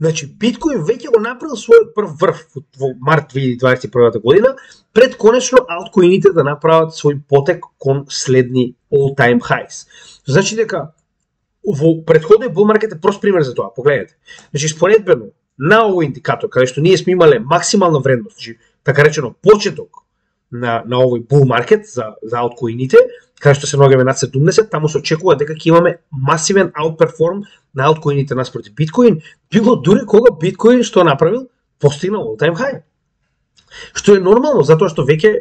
Значи, биткоин веќе го направил својот прв врв во март 2021 година, пред конечно алткоините да направат свој потек кон следни all-time highs. Значи дека во претходниот bull market е прост пример за тоа. Погледнете. Значи, споредбено на овој индикатор, каде што ние сме имале максимална вредност, значи, така речено почеток на овој bull market за алткоините, каде што се наоѓаме над 70, таму се очекува дека ќе имаме масивен outperform на алткоините наспроти биткоин, било дури кога биткоин што направил постигнал all time high. Што е нормално, затоа што веќе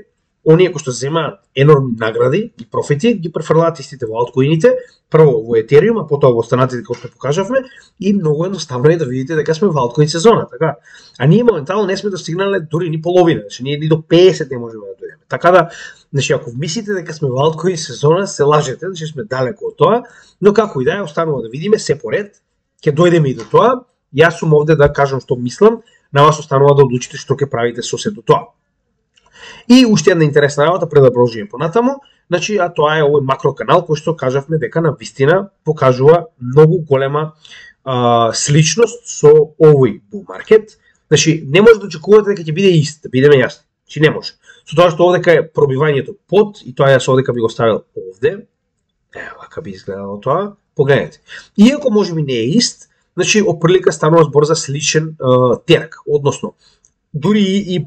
оние кои што земаат енормни награди и профити ги префрлаат истите во алткоините, прво во Ethereum, а потоа во останатите кои што покажавме, и многу едноставно е да видите дека сме во алткоин сезона, така. А ние моментално не сме достигнале дури ни половина, значи ние ни до 50 не можеме да дојдеме. Така да, значи ако мислите дека сме во алткоин сезона, се лажете, значи сме далеко од тоа, но како и да е, останува да видиме се поред, ќе дојдеме и до тоа. Јас сум овде да кажам што мислам, на вас останува да одлучите што ќе правите со сето тоа. И уште една интересна работа пред да продолжиме понатаму, значи а тоа е овој макроканал кој што кажавме дека на вистина покажува многу голема сличност со овој bull market. Значи не може да очекувате дека ќе биде ист, да бидеме јасни. Значи не може. Со тоа што овдека е пробивањето под и тоа јас овдека би го ставил овде. Ево вака би изгледало тоа. Погледнете. Иако можеби не е ист, значи опрлика станува збор за сличен терак, односно дури и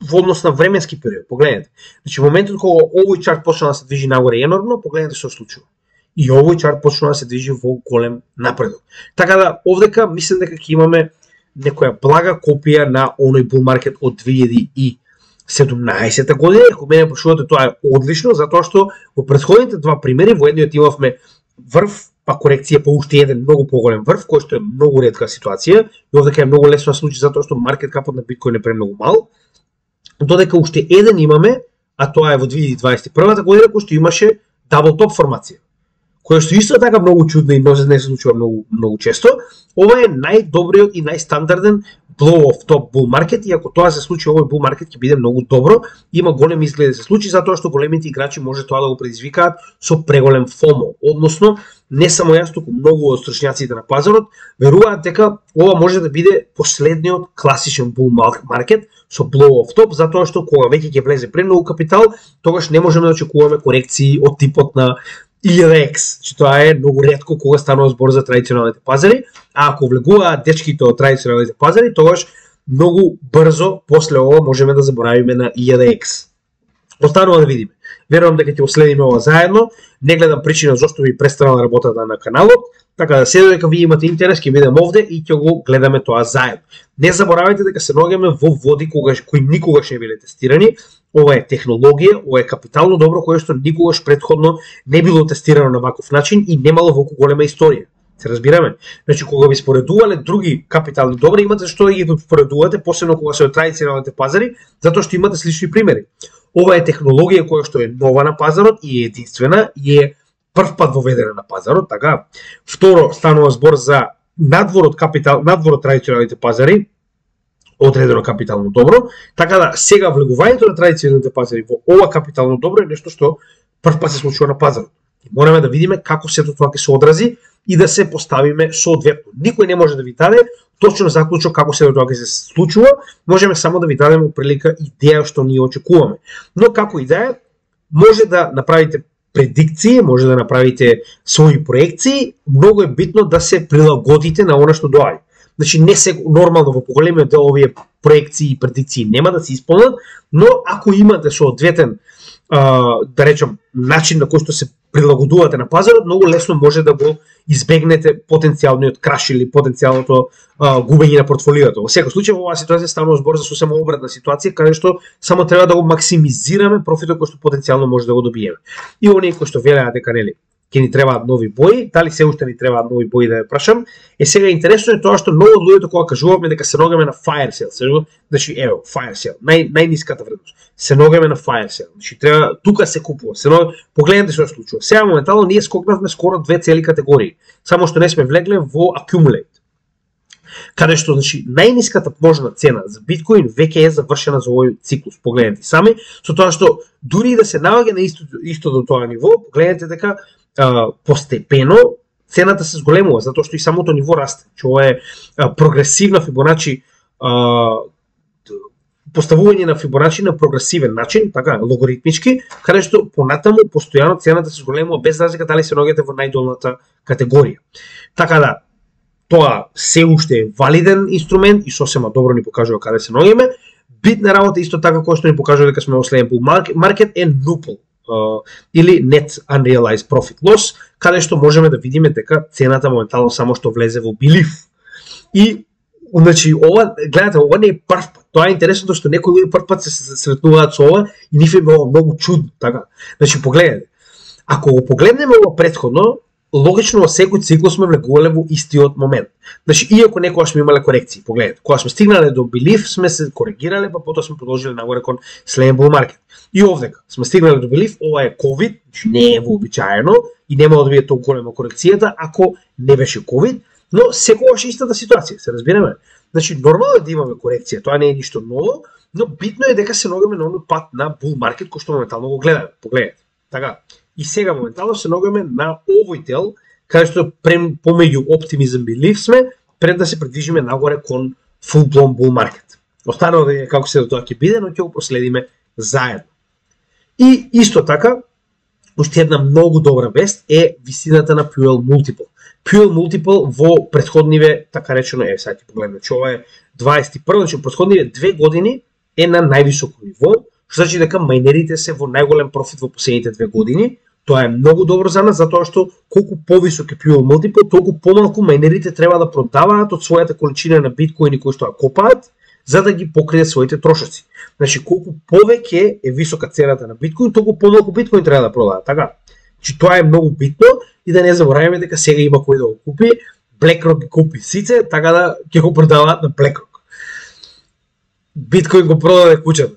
во однос на временски период. Погледнете. Значи моментот кога овој чарт почна да се движи нагоре енормно, погледнете што се случува. И овој чарт почна да се движи во голем напредок. Така да овдека мислам дека ќе имаме некоја блага копија на оној bull market од 2017 година. Ако мене прашувате, тоа е одлично, затоа што во претходните два примери, во едниот имавме врв, па корекција, па уште еден многу поголем врв, кој што е многу ретка ситуација, и овдека е многу лесно да случи затоа што маркет капот на биткоин е премногу мал. Додека уште еден имаме, а тоа е во 2021 година, кој што имаше дабл топ формација, која што исто така многу чудна и не се случува многу често. Ова е најдобриот и најстандарден blow off top bull market, и ако тоа се случи, овој bull market ќе биде многу добро, има големи изгледи да се случи, затоа што големите играчи може тоа да го предизвикаат со преголем FOMO, односно не само јас, туку многу од стручњаците на пазарот веруваат дека ова може да биде последниот класичен bull market со blow off top, затоа што кога веќе ќе влезе премногу капитал, тогаш не можеме да очекуваме корекции од типот на 1000x, че тоа е многу ретко кога станува збор за традиционалните пазари, а ако влегуваат дечките од традиционалните пазари, тогаш многу брзо после ова можеме да заборавиме на 1000x. Останува да видиме. Верувам дека ќе следиме ова заедно. Не гледам причина зашто би престанала работата на каналот, така да се додека ви имате интерес, ќе бидем овде и ќе го гледаме тоа заедно. Не заборавајте дека се наоѓаме во води кои никогаш не биле тестирани. Ова е технологија, ова е капитално добро кое што никогаш претходно не било тестирано на ваков начин и немало волку голема историја. Се разбираме? Значи, кога би споредувале други капитални добри, имате што да ги споредувате, посебно кога се од традиционалните пазари, затоа што имате слични примери. Ова е технологија која што е нова на пазарот и е единствена и е прв пат воведена на пазарот, така. Второ, станува збор за надвор од традиционалните пазари, одредено капитално добро, така да сега влегувањето на традиционалните пазари во ова капитално добро е нешто што прв пат се случува на пазарот. И мораме да видиме како сето тоа ќе се одрази и да се поставиме соодветно. Никој не може да ви даде точно заклучок како сето тоа ќе се случува, можеме само да ви дадеме прилика идеја што ние очекуваме. Но како и да е, може да направите предикции, може да направите своји проекции, многу е битно да се прилагодите на она што доаѓа. Значи не се нормално во поголемиот дел овие проекции и предикции нема да се исполнат, но ако имате соодветен да речем, начин на кој што се прилагодувате на пазарот, многу лесно може да го избегнете потенцијалниот краш или потенцијалното губење на портфолиото. Во секој случај, во оваа ситуација станува збор за сосема обратна ситуација, каде што само треба да го максимизираме профитот кој што потенцијално може да го добиеме. И оние кои што велеа дека нели ќе ни требаат нови бои, дали се уште ни требаат нови бои, да ја прашам. Сега интересно е тоа што многу од луѓето кога кажуваме дека се ногаме на fire sale, значи ево, fire sale, најниската вредност. Се ногаме на fire sale. Значи треба тука се купува. Погледнете што се случува. Сега моментално ние скокнавме скоро две цели категории, само што не сме влегле во accumulate. Каде што значи најниската можна цена за биткоин веќе е завршена за овој циклус. Погледнете сами, со тоа што дури да се наоѓа на исто до тоа ниво, погледнете дека постепено цената се зголемува, затоа што и самото ниво расте. Ова е прогресивна Фибоначи, поставување на Фибоначи на прогресивен начин, така, логоритмички, каде што понатаму постојано цената се зголемува без разлика дали се наоѓате во најдолната категорија. Така да, тоа се уште е валиден инструмент и сосема добро ни покажува каде се наоѓаме. Битна работа исто така кој што ни покажува дека сме во следен bull market е NUPL, или Net Unrealized Profit Loss, каде што можеме да видиме дека цената моментално само што влезе во belief. И значи ова, гледате, ова не е прв пат. Тоа е интересно што некои луѓе прв пат се сретнуваат со ова и нив е многу чудно, така. Значи погледнете. Ако го погледнеме ова претходно, логично во секој циклус сме влегувале во истиот момент. Значи, иако некогаш сме имале корекции, погледнете, кога сме стигнале до belief, сме се коригирале, па потоа сме продолжиле нагоре кон следен bull market. И овдека сме стигнале до belief, ова е COVID, значи не е вообичаено и нема да биде толку голема корекцијата ако не беше COVID, но секогаш истата ситуација, се разбираме. Значи, нормално е да имаме корекција, тоа не е ништо ново, но битно е дека се наоѓаме на оној пат на bull market кој што моментално го гледаме. Погледнете. Така. И сега моментално се наоѓаме на овој дел, каде што помеѓу оптимизм и belief сме, пред да се придвижиме нагоре кон full blown bull market. Останало да е како се до тоа ќе биде, но ќе го проследиме заедно. И исто така, уште една многу добра вест е висината на Puel Multiple. Puel Multiple во претходниве, така речено, сега ќе погледнем, че ова е 21, значи претходниве 2 години е на највисоко ниво, што значи дека мајнерите се во најголем профит во последните 2 години. Тоа е многу добро за нас, затоа што колку повисок е Puel Multiple, толку помалку мајнерите треба да продаваат од својата количина на биткоини кои што ја копаат, за да ги покријат своите трошоци. Значи, колку повеќе е висока цената на биткоин, толку помалку биткоин треба да продаат, така? Значи, тоа е многу битно и да не забораваме дека сега има кој да го купи, BlackRock ги купи сице, така да ќе го продаваат на BlackRock. Биткоин го продаде куќата.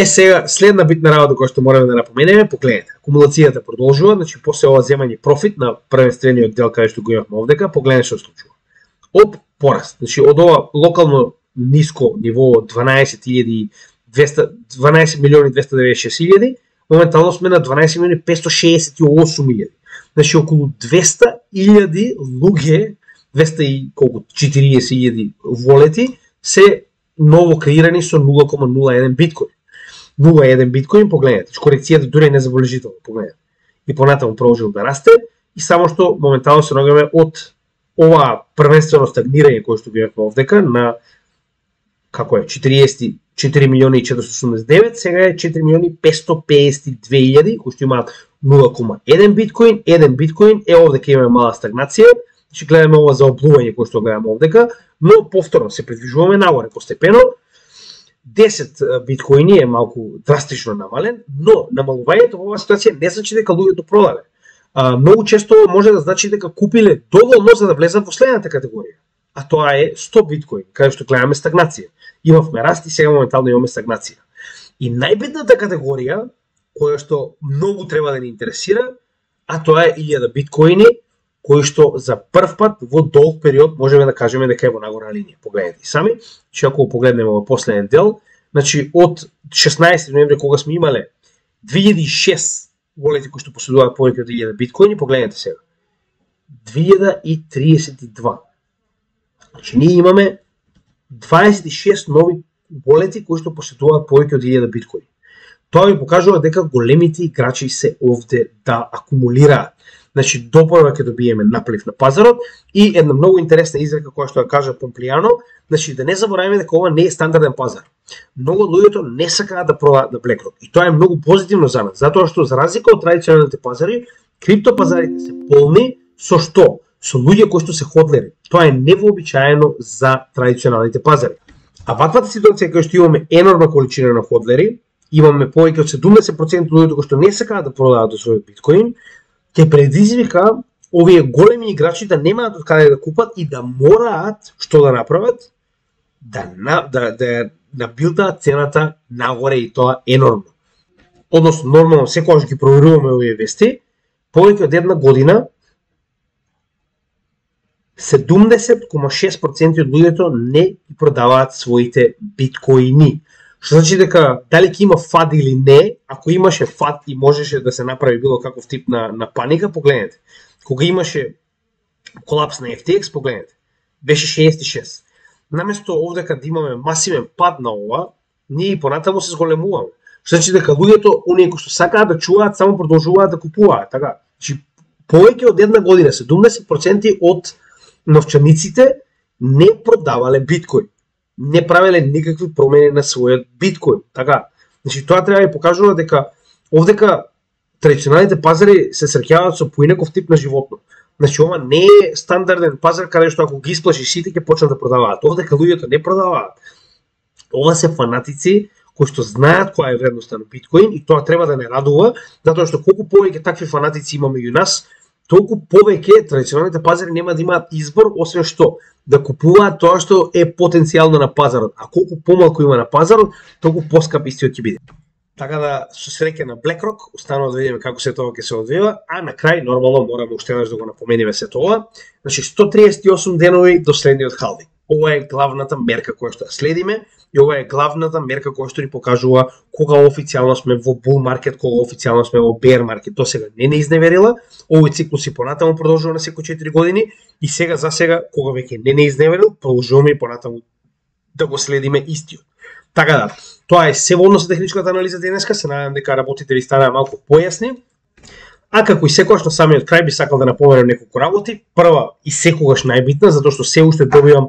Сега, следна битна работа која што мораме да напоменеме, погледнете, акумулацијата продолжува, значи после ова земање профит на првенствениот дел каде што го имавме овдека, погледнете што случува. Пораст, значи од ова локално ниско ниво 12.296.000, моментално сме на 12.568.000. Значи околу 200.000 луѓе, 240.000 волети се ново креирани со 0,01 биткоин. 0,1 биткоин, погледнете, корекцијата дури е незабележителна, погледнете. И понатаму продолжил да расте и само што моментално се наоѓаме од ова првенствено стагнирање кој што бевме овдека на како е 4.489.000, сега е 4.552.000 кои што имаат 0,1 биткоин, 1 биткоин, овдека имаме мала стагнација, значи гледаме ова за облување кој што гледаме овдека, но повторно се придвижуваме нагоре постепено. 10 биткоини е малку драстично намален, но намалувањето во оваа ситуација не значи дека луѓето продале. Многу често може да значи дека купиле доволно за да влезат во следната категорија, а тоа е 100 биткоин, каде што гледаме стагнација. Имавме раст и сега моментално имаме стагнација. И најбитната категорија, која што многу треба да ни интересира, а тоа е 1000 биткоини, кои што за прв пат во долг период можеме да кажеме дека е во нагорна линија. Погледнете сами, че ако погледнеме во последен дел, значи од 16 ноември кога сме имале 2006 волети кои што поседуваат повеќе од 1000 биткоини, погледнете сега. 2032. Значи ние имаме 26 нови волети кои што поседуваат повеќе од 1000 биткоини. Тоа ви покажува дека големите играчи се овде да акумулираат. значи допрва ќе добиеме наплив на пазарот и една многу интересна изрека која што ја кажа Помплијано, значи да не забораваме дека ова не е стандарден пазар. Многу од луѓето не сакаат да продаат на BlackRock и тоа е многу позитивно за нас, затоа што за разлика од традиционалните пазари, криптопазарите се полни со што? Со луѓе кои што се ходлери. Тоа е невообичаено за традиционалните пазари. А ваквата ситуација кај што имаме енормна количина на ходлери, имаме повеќе од 70% луѓето кои што не сакаат да продаваат својот биткоин, ќе предизвика овие големи играчи да немаат од каде да купат и да мораат што да направат, да набилдаат цената нагоре и тоа енормно. Односно, нормално, секогаш ги проверуваме овие вести, повеќе од една година 70,6% од луѓето не продаваат своите биткоини. Што значи дека дали ќе има фад или не, ако имаше фад и можеше да се направи било каков тип на паника, погледнете. Кога имаше колапс на FTX, погледнете, беше 66. Наместо овдека да имаме масивен пад на ова, ние и понатаму се зголемуваме. Што значи дека луѓето, оние кои што сакаат да чуваат, само продолжуваат да купуваат, така. Значи повеќе од една година 70% од новчаниците не продавале биткоин, не правеле никакви промени на својот биткоин, така. Значи тоа треба да покажува дека овдека традиционалните пазари се среќаваат со поинаков тип на животно. Значи ова не е стандарден пазар каде што ако ги исплаши сите ќе почнат да продаваат. Овдека луѓето не продаваат. Ова се фанатици кои што знаат која е вредноста на биткоин и тоа треба да не радува, затоа што колку повеќе такви фанатици имаме и у нас, толку повеќе традиционалните пазари нема да имаат избор освен што да купуваат тоа што е потенцијално на пазарот, а колку помалку има на пазарот, толку поскап истиот ќе биде. Така да со среќа на BlackRock, останува да видиме како се тоа ќе се одвива, а на крај нормално мораме уште еднаш да го напомениме се тоа. Значи 138 денови до следниот халвинг. Ова е главната мерка која што ја следиме и ова е главната мерка која што ни покажува кога официјално сме во bull market, кога официјално сме во bear market. До сега не изневерила, овој циклус и понатаму продолжува на секој 4 години и сега за сега кога веќе не изневерил, продолжуваме и понатаму да го следиме истиот. Така да, тоа е се во однос на техничката анализа денеска, се надевам дека работите ви станаа малку појасни. А како и секогаш на самиот крај би сакал да напоменам неколку работи. Прва и секогаш најбитна, затоа што се уште добивам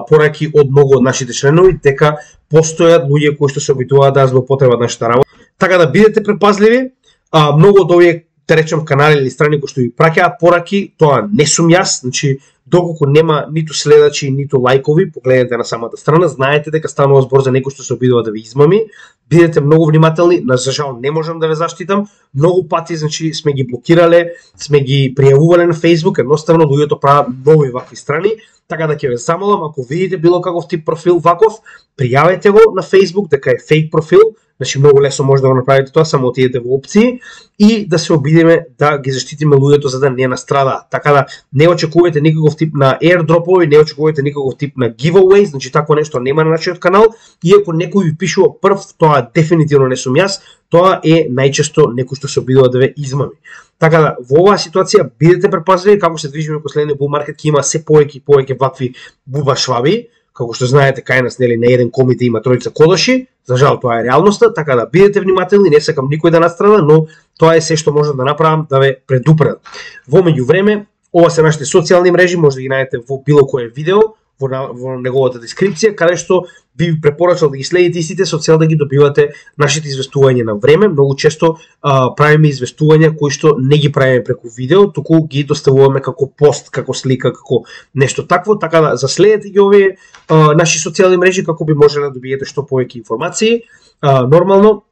пораки од многу од нашите членови дека постојат луѓе кои што се обидуваат да злоупотребат нашата работа. Така да бидете предпазливи. Многу од овие, да речем, канали или страни кои што ви праќаат пораки, тоа не сум јас, значи доколку нема ниту следачи, ниту лајкови, погледнете на самата страна, знаете дека станува збор за некој што се обидува да ви измами. Бидете многу внимателни, за жал не можам да ве заштитам. Многу пати значи сме ги блокирале, сме ги пријавувале на Facebook, едноставно луѓето прават нови вакви страни, така да ќе ве замолам ако видите било каков тип профил ваков, пријавете го на Facebook дека е фейк профил. Значи многу лесно може да го направите тоа, само отидете во опции и да се обидиме да ги заштитиме луѓето за да не настрадаат. Така да не очекувате никаков тип на airdroпови, не очекувате никаков тип на giveaway, значи такво нешто нема на нашиот канал. Иако некој ви пишува прв, тоа дефинитивно не сум јас, тоа е најчесто некој што се обидува да ве измами. Така да во оваа ситуација бидете предпазливи, како се движиме кон следниот bull market, ќе има се повеќе и повеќе вакви бубашваби. Како што знаете, кај нас нели на еден комите има тројца кодоши, за жал тоа е реалноста, така да бидете внимателни, не сакам никој да настрада, но тоа е се што можам да направам да ве предупредам. Во меѓувреме, ова се нашите социјални мрежи, може да ги најдете во било кое видео, во неговата дескрипција, каде што би ви препорачал да ги следите истите со цел да ги добивате нашите известувања на време. Многу често правиме известувања кои што не ги правиме преку видео, туку ги доставуваме како пост, како слика, како нешто такво, така да заследете ги овие наши социјални мрежи како би можеле да добиете што повеќе информации. Нормално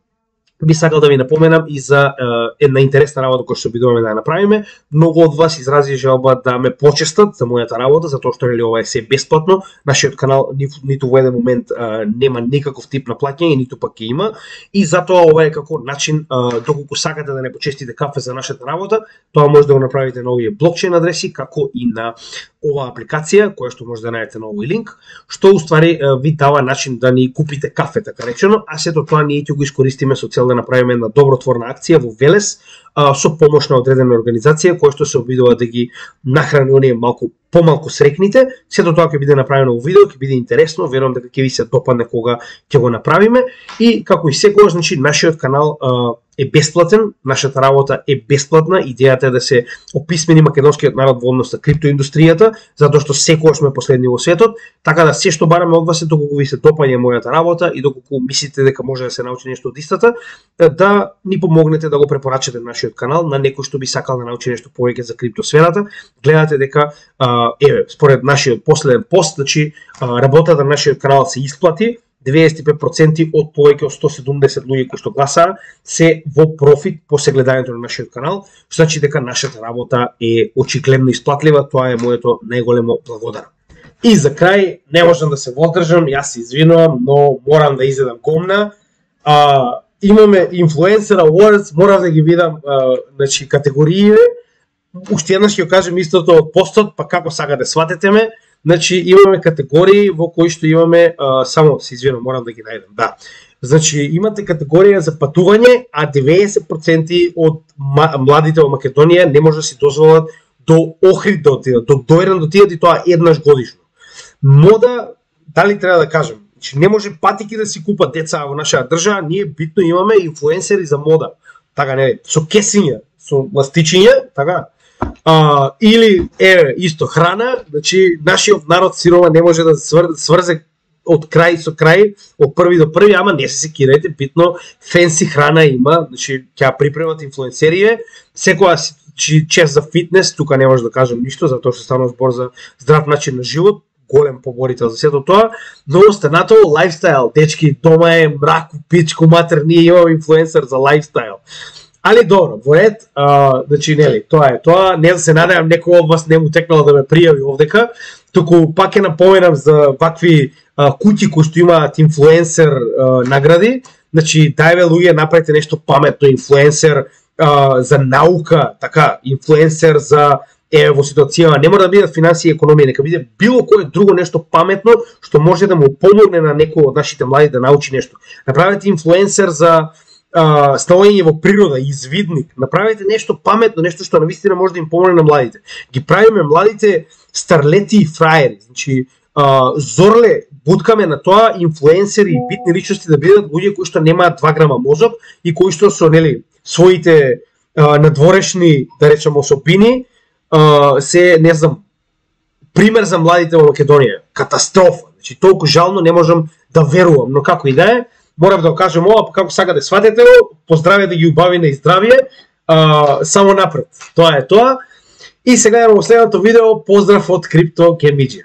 би сакал да ви напоменам и за една интересна работа која што обидуваме да ја направиме. Многу од вас изрази желба да ме почестат за мојата работа, затоа што нели ова е се бесплатно. Нашиот канал ниту во еден момент нема никаков тип на плаќање, ниту пак ќе има. И затоа ова е како начин, доколку сакате да не почестите кафе за нашата работа, тоа може да го направите на овие блокчейн адреси, како и на оваа апликација, која што може да најдете на овој линк, што уствари ви дава начин да ни купите кафе, така речено, а сето тоа ние ќе го искористиме со цел да направиме една добротворна акција во Велес со помош на одредена организација која што се обидува да ги нахрани оние малку помалку срекните. Сето тоа ќе биде направено во видео, ќе биде интересно, верувам дека ќе ви се допадне кога ќе го направиме. И како и секогаш, значи нашиот канал е бесплатен, нашата работа е бесплатна, идејата е да се описмени македонскиот народ во однос на криптоиндустријата, затоа што секогаш сме последни во светот, така да се што бараме од вас е доколку ви се допаѓа мојата работа и доколку мислите дека може да се научи нешто од истата, да ни помогнете да го препорачате нашиот канал на некој што би сакал да научи нешто повеќе за криптосферата. Гледате дека според нашиот последен пост, значи работата на нашиот канал се исплати. 95% од повеќе од 170 луѓе кои што гласаа се во профит после гледањето на нашиот канал, што значи дека нашата работа е очигледно исплатлива. Тоа е моето најголемо благодарам. И за крај, не можам да се воздржам, јас се извинувам, но морам да изедам гомна. Имаме Influencer Awards, морам да ги видам значи категориите. Уште еднаш ќе кажем истото од постот, па како сакате сватете ме. Значи имаме категории во кои што имаме само се извинувам, морам да ги најдам. Да. Значи имате категорија за патување, а 90% од младите во Македонија не може да си дозволат до Охрид да отидат, до Дојран да отидат и тоа еднаш годишно. Мода, дали треба да кажем, значи не може патики да си купат деца во нашата држава, ние битно имаме инфлуенсери за мода. Така не, со кесиња, со ластичиња, така. Или исто храна, значи нашиот народ сирова не може да сврзе од крај со крај, од први до први, ама не се секирајте, битно фенси храна има, значи ќе припремат инфлуенсерија, секоја чест за фитнес, тука не може да кажем ништо, затоа што станува збор за здрав начин на живот, голем поборител за сето тоа, но останато лајфстайл, дечки, дома е мрак, пичку, матер, ние имаме инфлуенсер за лајфстайл. Али добро, во ред, значи нели, тоа е тоа, не да се надевам некој од вас не му текнало да ме пријави овдека, туку пак ќе напоменам за вакви куќи кои што имаат инфлуенсер награди, значи дајве луѓе направите нешто паметно, инфлуенсер за наука, така, инфлуенсер за во ситуација, не мора да бидат финансии и економија, нека биде било кое друго нешто паметно што може да му помогне на некој од нашите млади да научи нешто. Направете инфлуенсер за ставање во природа, извидник, направете нешто паметно, нешто што навистина може да им помогне на младите. Ги правиме младите старлети и фраери, значи зорле буткаме на тоа инфлуенсери и битни личности да бидат луѓе кои што немаат 2 грама мозок и кои што со нели своите надворешни, да речеме, особини се, не знам, пример за младите во Македонија. Катастрофа. Значи толку жално не можам да верувам, но како и да е, морам да кажем ова, како сакате сватете го, поздраве да ги убави на здравје, само напред. Тоа е тоа. И сега во следното видео, поздрав од Крипто Кемиџи.